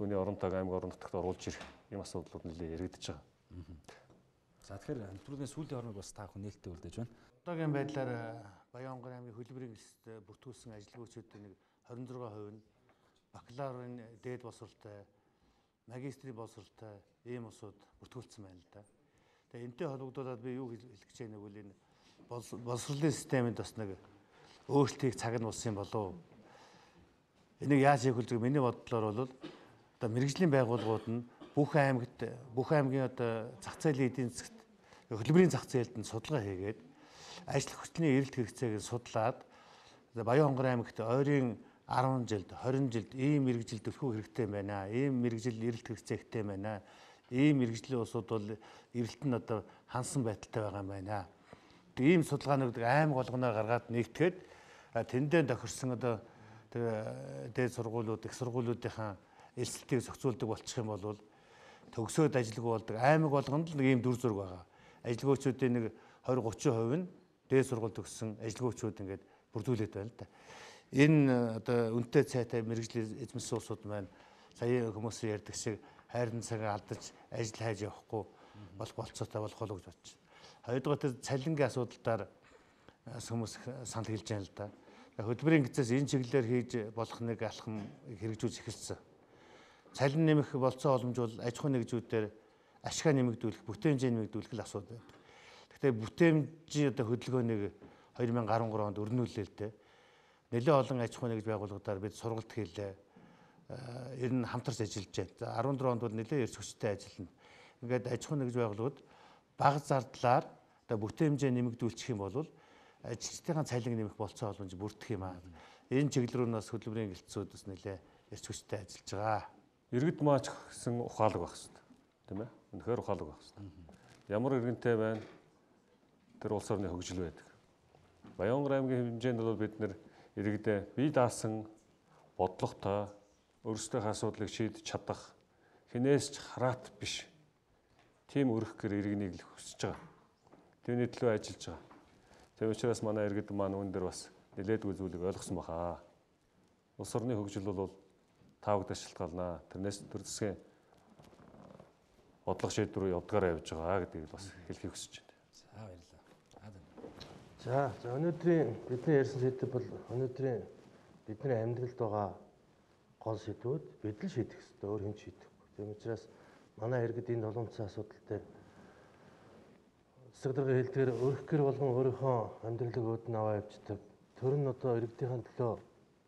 түүний оронтойг аймаг орон нутагт оруулж ирэх ийм асуудлууд нэлээд яригдж байгаа. За тэгэхээр нэвтрүүлгийн сүүлийн хормыг бас та бүхэн нээлттэй үлдээж байна. Одоогийн байдлаар Баянган аймгийн хөдөлмөрийн эсэст бүртгүүлсэн ажилгүйчүүдийн нэг хорин зургаан хувь нь бакалаврын дээд боловсролтой, магистрийн боловсролтой ийм усуд бүртгүүлсэн байна л да. Тэгээ энэтэй холбогдуулаад би юу хэлэх гэж байна вэ? Энэ боловсролын системд бас нэг өөрчлөлтийг цаг нь болсон болов. Энийг яаж хийх вэ? Миний бодлоор бол одоо мэрэгжлийн байгууллагууд нь бүх аймагт бүх аймгийн одоо зах зээлийн эдийн засгт хөдөлмөрийн зах зээлд нь судалгаа хийгээд ажил хүчний эрэлт хэрэгцээг судлаад Баянган аймагт ойрын арван жилд, хорин жилд ийм мэрэгжил төлхөө хэрэгтэй байна. Ийм мэрэгжил эрэлт хэрэгцээтэй байна. Ийм мэрэгжлийн усуд бол эрэлт нь одоо хансан байдалтай байгаа юм байна. Ийм судалгаанууд аймаг болгоноор гаргаад нэгтгэхэд тэндээ тохирсон одоо дээд сургуулиуд, их сургуулиудынхаа элсэлтийг зохицуулдаг болчих юм бол төгсөөд ажилгүй болдог аймаг болгонд л нэг ийм дүр зураг байгаа. Ажилгүйчүүдийн нэг двадцать тридцать хувь нь дээд сургууль төгссөн ажилгүйчүүд ингээд бүрдүүлээд байна л да. Энэ одоо үнэтэй цайтай мэрэгжлийн эзэмсэн улсууд маань сая хүмүүс ярьдаг шиг хайрын цагаа алдаж ажил хайж явахгүй болох болцоотой болох болов гэж бодож байна. Хоёрдугаар цалингийн асуудалтаар хүмүүс санал хэлж байна л да. Хөдөлмөрийн гизээс энэ чиглэлээр хийж болох нэг алхам хэрэгжүүлж эхэлсэн. Цалин нэмэх болцоо боломж бол аж ахуйн нэгжүүдээр ашгаа нэмэгдүүлэх, бүтээн хэмжээ нэмэгдүүлэх л асуудал байна. Гэхдээ бүтээмжийн одоо хөдөлгөөнийг две тысячи десять онд өрнүүлээ л дээ. Нэлээд олон аж ахуйн нэгж байгууллагуудаар бид сургалт хийлээ. Ер нь хамтарч ажиллаж байна. За дөрөв онд бол нэлээд эрс хүчтэй ажиллана. Ингээд аж ахуйн нэгж байгууллагууд бага зардлаар одоо бүтээн хэмжээ нэмэгдүүлчих юм бол ажилчдын цалин нэмэх болцоо боломж бүрдэх юм аа. Энэ чиглэл рүү нас хөдөлмөрийн гэлтцүүд бас нэлээд эрс хүчтэй ажиллаж байгаа. Иргэд маач гэсэн ухаалаг байх хэрэгтэй. Тийм ээ? Үнэхээр ухаалаг байх хэрэгтэй. Ямар иргэнтэй байна? Тэр улс орны хөгжил байдаг. Баянган аймгийн хэмжээнд бол бид нэр иргэдээ бие даасан бодлоготой өөрсдийнхөө асуудлыг шийдэж чадах хинээс ч хараат биш. Тийм өрх гэр иргэнийг л хүсэж байгаа. Түүний төлөө ажиллаж байгаа. Тийм учраас манай иргэд маань үүн дээр бас нэлээдгүй зүйлийг ойлгосон баха. Улс орны хөгжил бол тавагдаж шалтгаална. Тэрнээс төр засгийн бодлого шийдвэр явдгаараа явж байгаа гэдгийг бас хэлхийг хүсэж байна. За баярлалаа. За, за өнөөдрийн бидний ярьсан сэдэв бол өнөөдрийн бидний амьдралд байгаа гол сэдвүүд бид л шийдэх хэрэгтэй, өөр хэн шийдэхгүй. Тийм учраас манай иргэд энэ толгомцсон асуудал дээр засаг дарга хэлдгээр өрх гэр болгон өөрийнхөө амьдралыг өөдөн аваа явждаг. Тэр нь одоо иргэдийн төлөө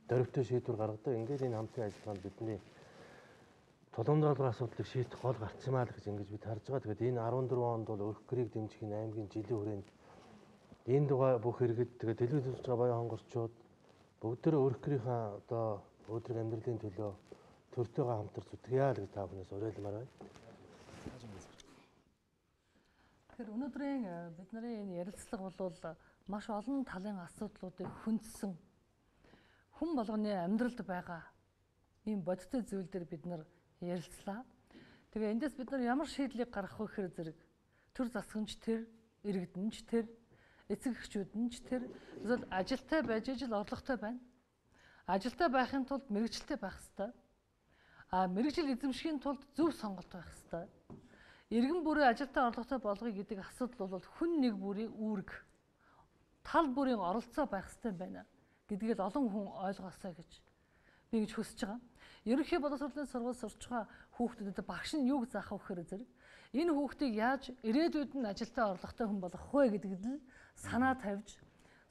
дөрвтэй шийдвэр гаргадаг. Ингээд энэ хамтын ажиллагаанд бидний толгомдол асуудлыг шийдэх гол гарц юмаа л гэж ингэж бид харж байгаа. Тэгээд энэ дөрөв онд бол өрх гэрийг дэмжих энэ аймгийн жилийн хүрээнд энэ дугаа бүх иргэд тэгээд телевиз үзэж байгаа баян хонгорчууд бүгдөө өрх гэрийнхаа одоо өдрөг амьдралын төлөө төртөөгөө хамтарч зүтгэе л гэж та бүхнээс уриалмаар байна. Тэгэхээр өнөөдрийн бидний энэ ярилцлага бол маш олон талын асуудлуудыг хүндсэн хүн болгоны амьдралд байгаа ийм бодиттой зүйл дээр бид нар ярилцлаа. Тэгээ эндээс бид нар ямар шийдлийг гаргах вэ гэхээр зэрэг төр засгч тэр, иргэдэнч тэр, эцэг эхчүүдэнч тэр зөвхөн ажилтай байж ижил орлоготой байна. Ажилтай байхын тулд мэрэгчлээ байх ёстой. А мэрэгжил эзэмшихийн тулд зөв сонголт байх ёстой. Иргэн бүрийн ажилтай орлоготой болгоё гэдэг асуудал бол хүн нэг бүрийн үүрэг, тал бүрийн оролцоо байх ёстой байна гэдгийг л олон хүн ойлгоосоо гэж би гэж хүсэж байгаа. Ерөнхий боловсролын сургууль сурч байгаа хүүхдүүдэд багш нь юуг заах вэ гэхээр зэрэг энэ хүүхдийг яаж ирээдүйд нь ажилтай орлоготой хүн болгох вэ гэдэгт л санаа тавьж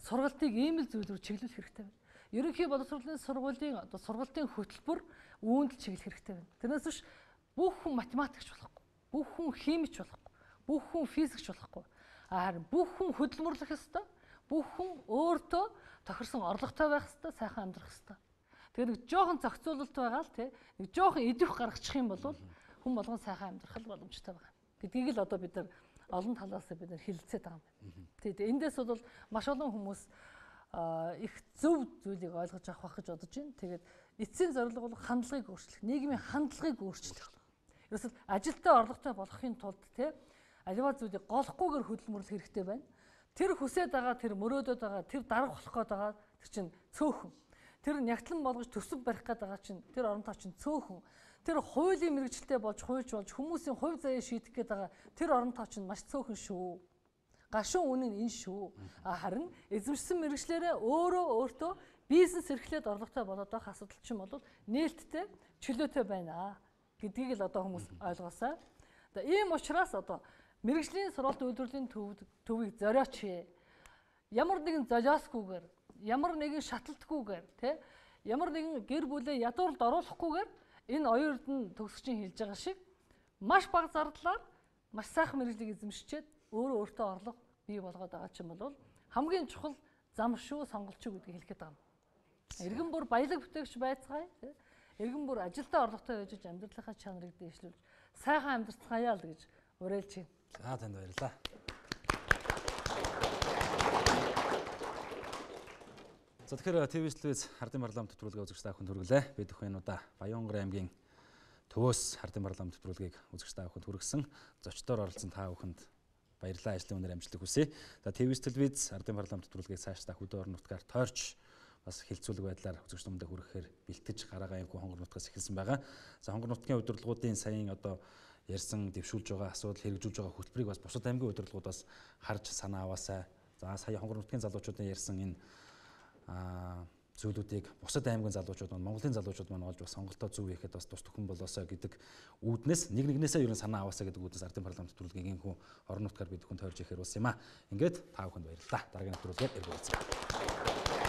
сургалтыг ийм л зүйл рүү чиглүүлэх хэрэгтэй байна. Ерөнхий боловсролын сургуулийн одоо сургалтын хөтөлбөр үүнд л чиглэх хэрэгтэй байна. Тэрнээс биш бүх хүн математикч болохгүй, бүх хүн химич болохгүй, бүх хүн физикч болохгүй. Харин бүх хүн хөдөлмөрлөх ёстой, бүх хүн өөртөө тохирсон орлоготой байх ёстой, сайхан амьдрах ёстой. Тэгээ нэг жоохон зохицуулалт байгаа л тий. Нэг жоохон идэвх гаргачих юм бол хүн болгон сайхан амьдрах л боломжтой байгаа. Гэдгийг л одоо бид нар олон талаас бид нар хэлэлцээд байгаа юм байна. Тэгээд эндээс бол маш олон хүмүүс их зөв зүйлийг ойлгож авах гэж бодож байна. Тэгээд эцсийн зорилго бол хандлагыг өөрчлөх, нийгмийн хандлагыг өөрчлөх. Ерөөсөл ажилтай орлоготой болохын тулд тий аливаа зүйлийг голохгүйгээр хөдөлмөрлөх хэрэгтэй байна. Тэр хүсээд байгаа, тэр мөрөөдөд байгаа, тэр дарга болох гээд байгаа тэр чинь цөөхөн. Тэр нягтлан болгож төсөв барих гээд байгаа чинь тэр оронтой чинь цөөхөн. тэр хуулийн мэрэгчлээ болж хуульч болж хүмүүсийн хувь заяа шийдэх гээд байгаа тэр орон тоо чинь маш цөөхөн шүү. Гашуун үнэн энэ шүү. Харин эзэмшсэн мэрэгчлэрээ өөрөө өөртөө бизнес эрхлээд орлоготой болоод байх асуудал чинь бол нээлттэй чөлөөтэй байна гэдгийг л одоо хүмүүс ойлгоосаа. Тэгээ ийм учраас одоо мэрэгжлийн сургалт үйлдвэрлэлийн төвийг зориоч. Ямар нэгэн золиосгүйгээр, ямар нэгэн шаталтгүйгээр, тэ ямар нэгэн гэр бүлээ ядууралд оруулахгүйгээр энэ оюурд нь төгсөгчийн хэлж байгаа шиг маш бага зардлаар маш сайхан мэрэгжлийг эзэмшчихэд өөрөө өөртөө орлого бий болгоод байгаа ч юм бол хамгийн чухал зам шүү, сонголт шүү гэдгийг хэлэхэд байгаа юм. Иргэн бүр баялаг бүтээгч байцгаая, иргэн бүр ажилдаа орлоготой байж амьдралынхаа чанарыг дээшлүүлж сайхан амьдрцгаая л гэж уриалж байна. За танд баярлалаа. За тэгэхээр ТV телевиз Хардын парламент нэвтрүүлгээ үзэгч та бүхэнд хүргэлээ. Бид бүхэн удаа Баянгар аймгийн Төвөөс Хардын парламент нэвтрүүлгийг үзэгч та бүхэнд хүргэсэн. Зочдоор оролцсон та бүхэнд баярлалаа. Ажлын өнөр амжилт хүсье. За ТV телевиз Хардын парламент нэвтрүүлгийг цаашдаа хөдөө орон нутгаар тойрч бас хилцүүлэг байдлаар үзэгч хүмүүстээ хүрэхээр бэлтгэж гараагаа аймаг хонгор нутгаас эхэлсэн байгаа. За хонгор нутгийн удирдлагуудын саяын одоо ярьсан дэвшүүлж байгаа асуудал хэрэгжүүлж байгаа хөтөлбөрийг бас бусад аймгийн удирдлагуудаас харж санаа аваасаа. За сая хонгор нутгийн залуучуудын ярьсан энэ а зүйлүүдийг бусад аймгийн залуучууд маань Монголын залуучууд маань олж бас сонголтоо зөв хийхэд бас тус төхөн болоосоо гэдэг үүднээс нэг нэгнээсээ ерөн санаа аваасаа гэдэг үүднээс Ардын парламент нэвтрүүлгийн инхүү орон нутгаар бид бүхэн тойрж ихээр ус юм а. Ингээд та бүхэнд баярлалаа. Дараагийн нэвтрүүлгээр эргүүлцгээе.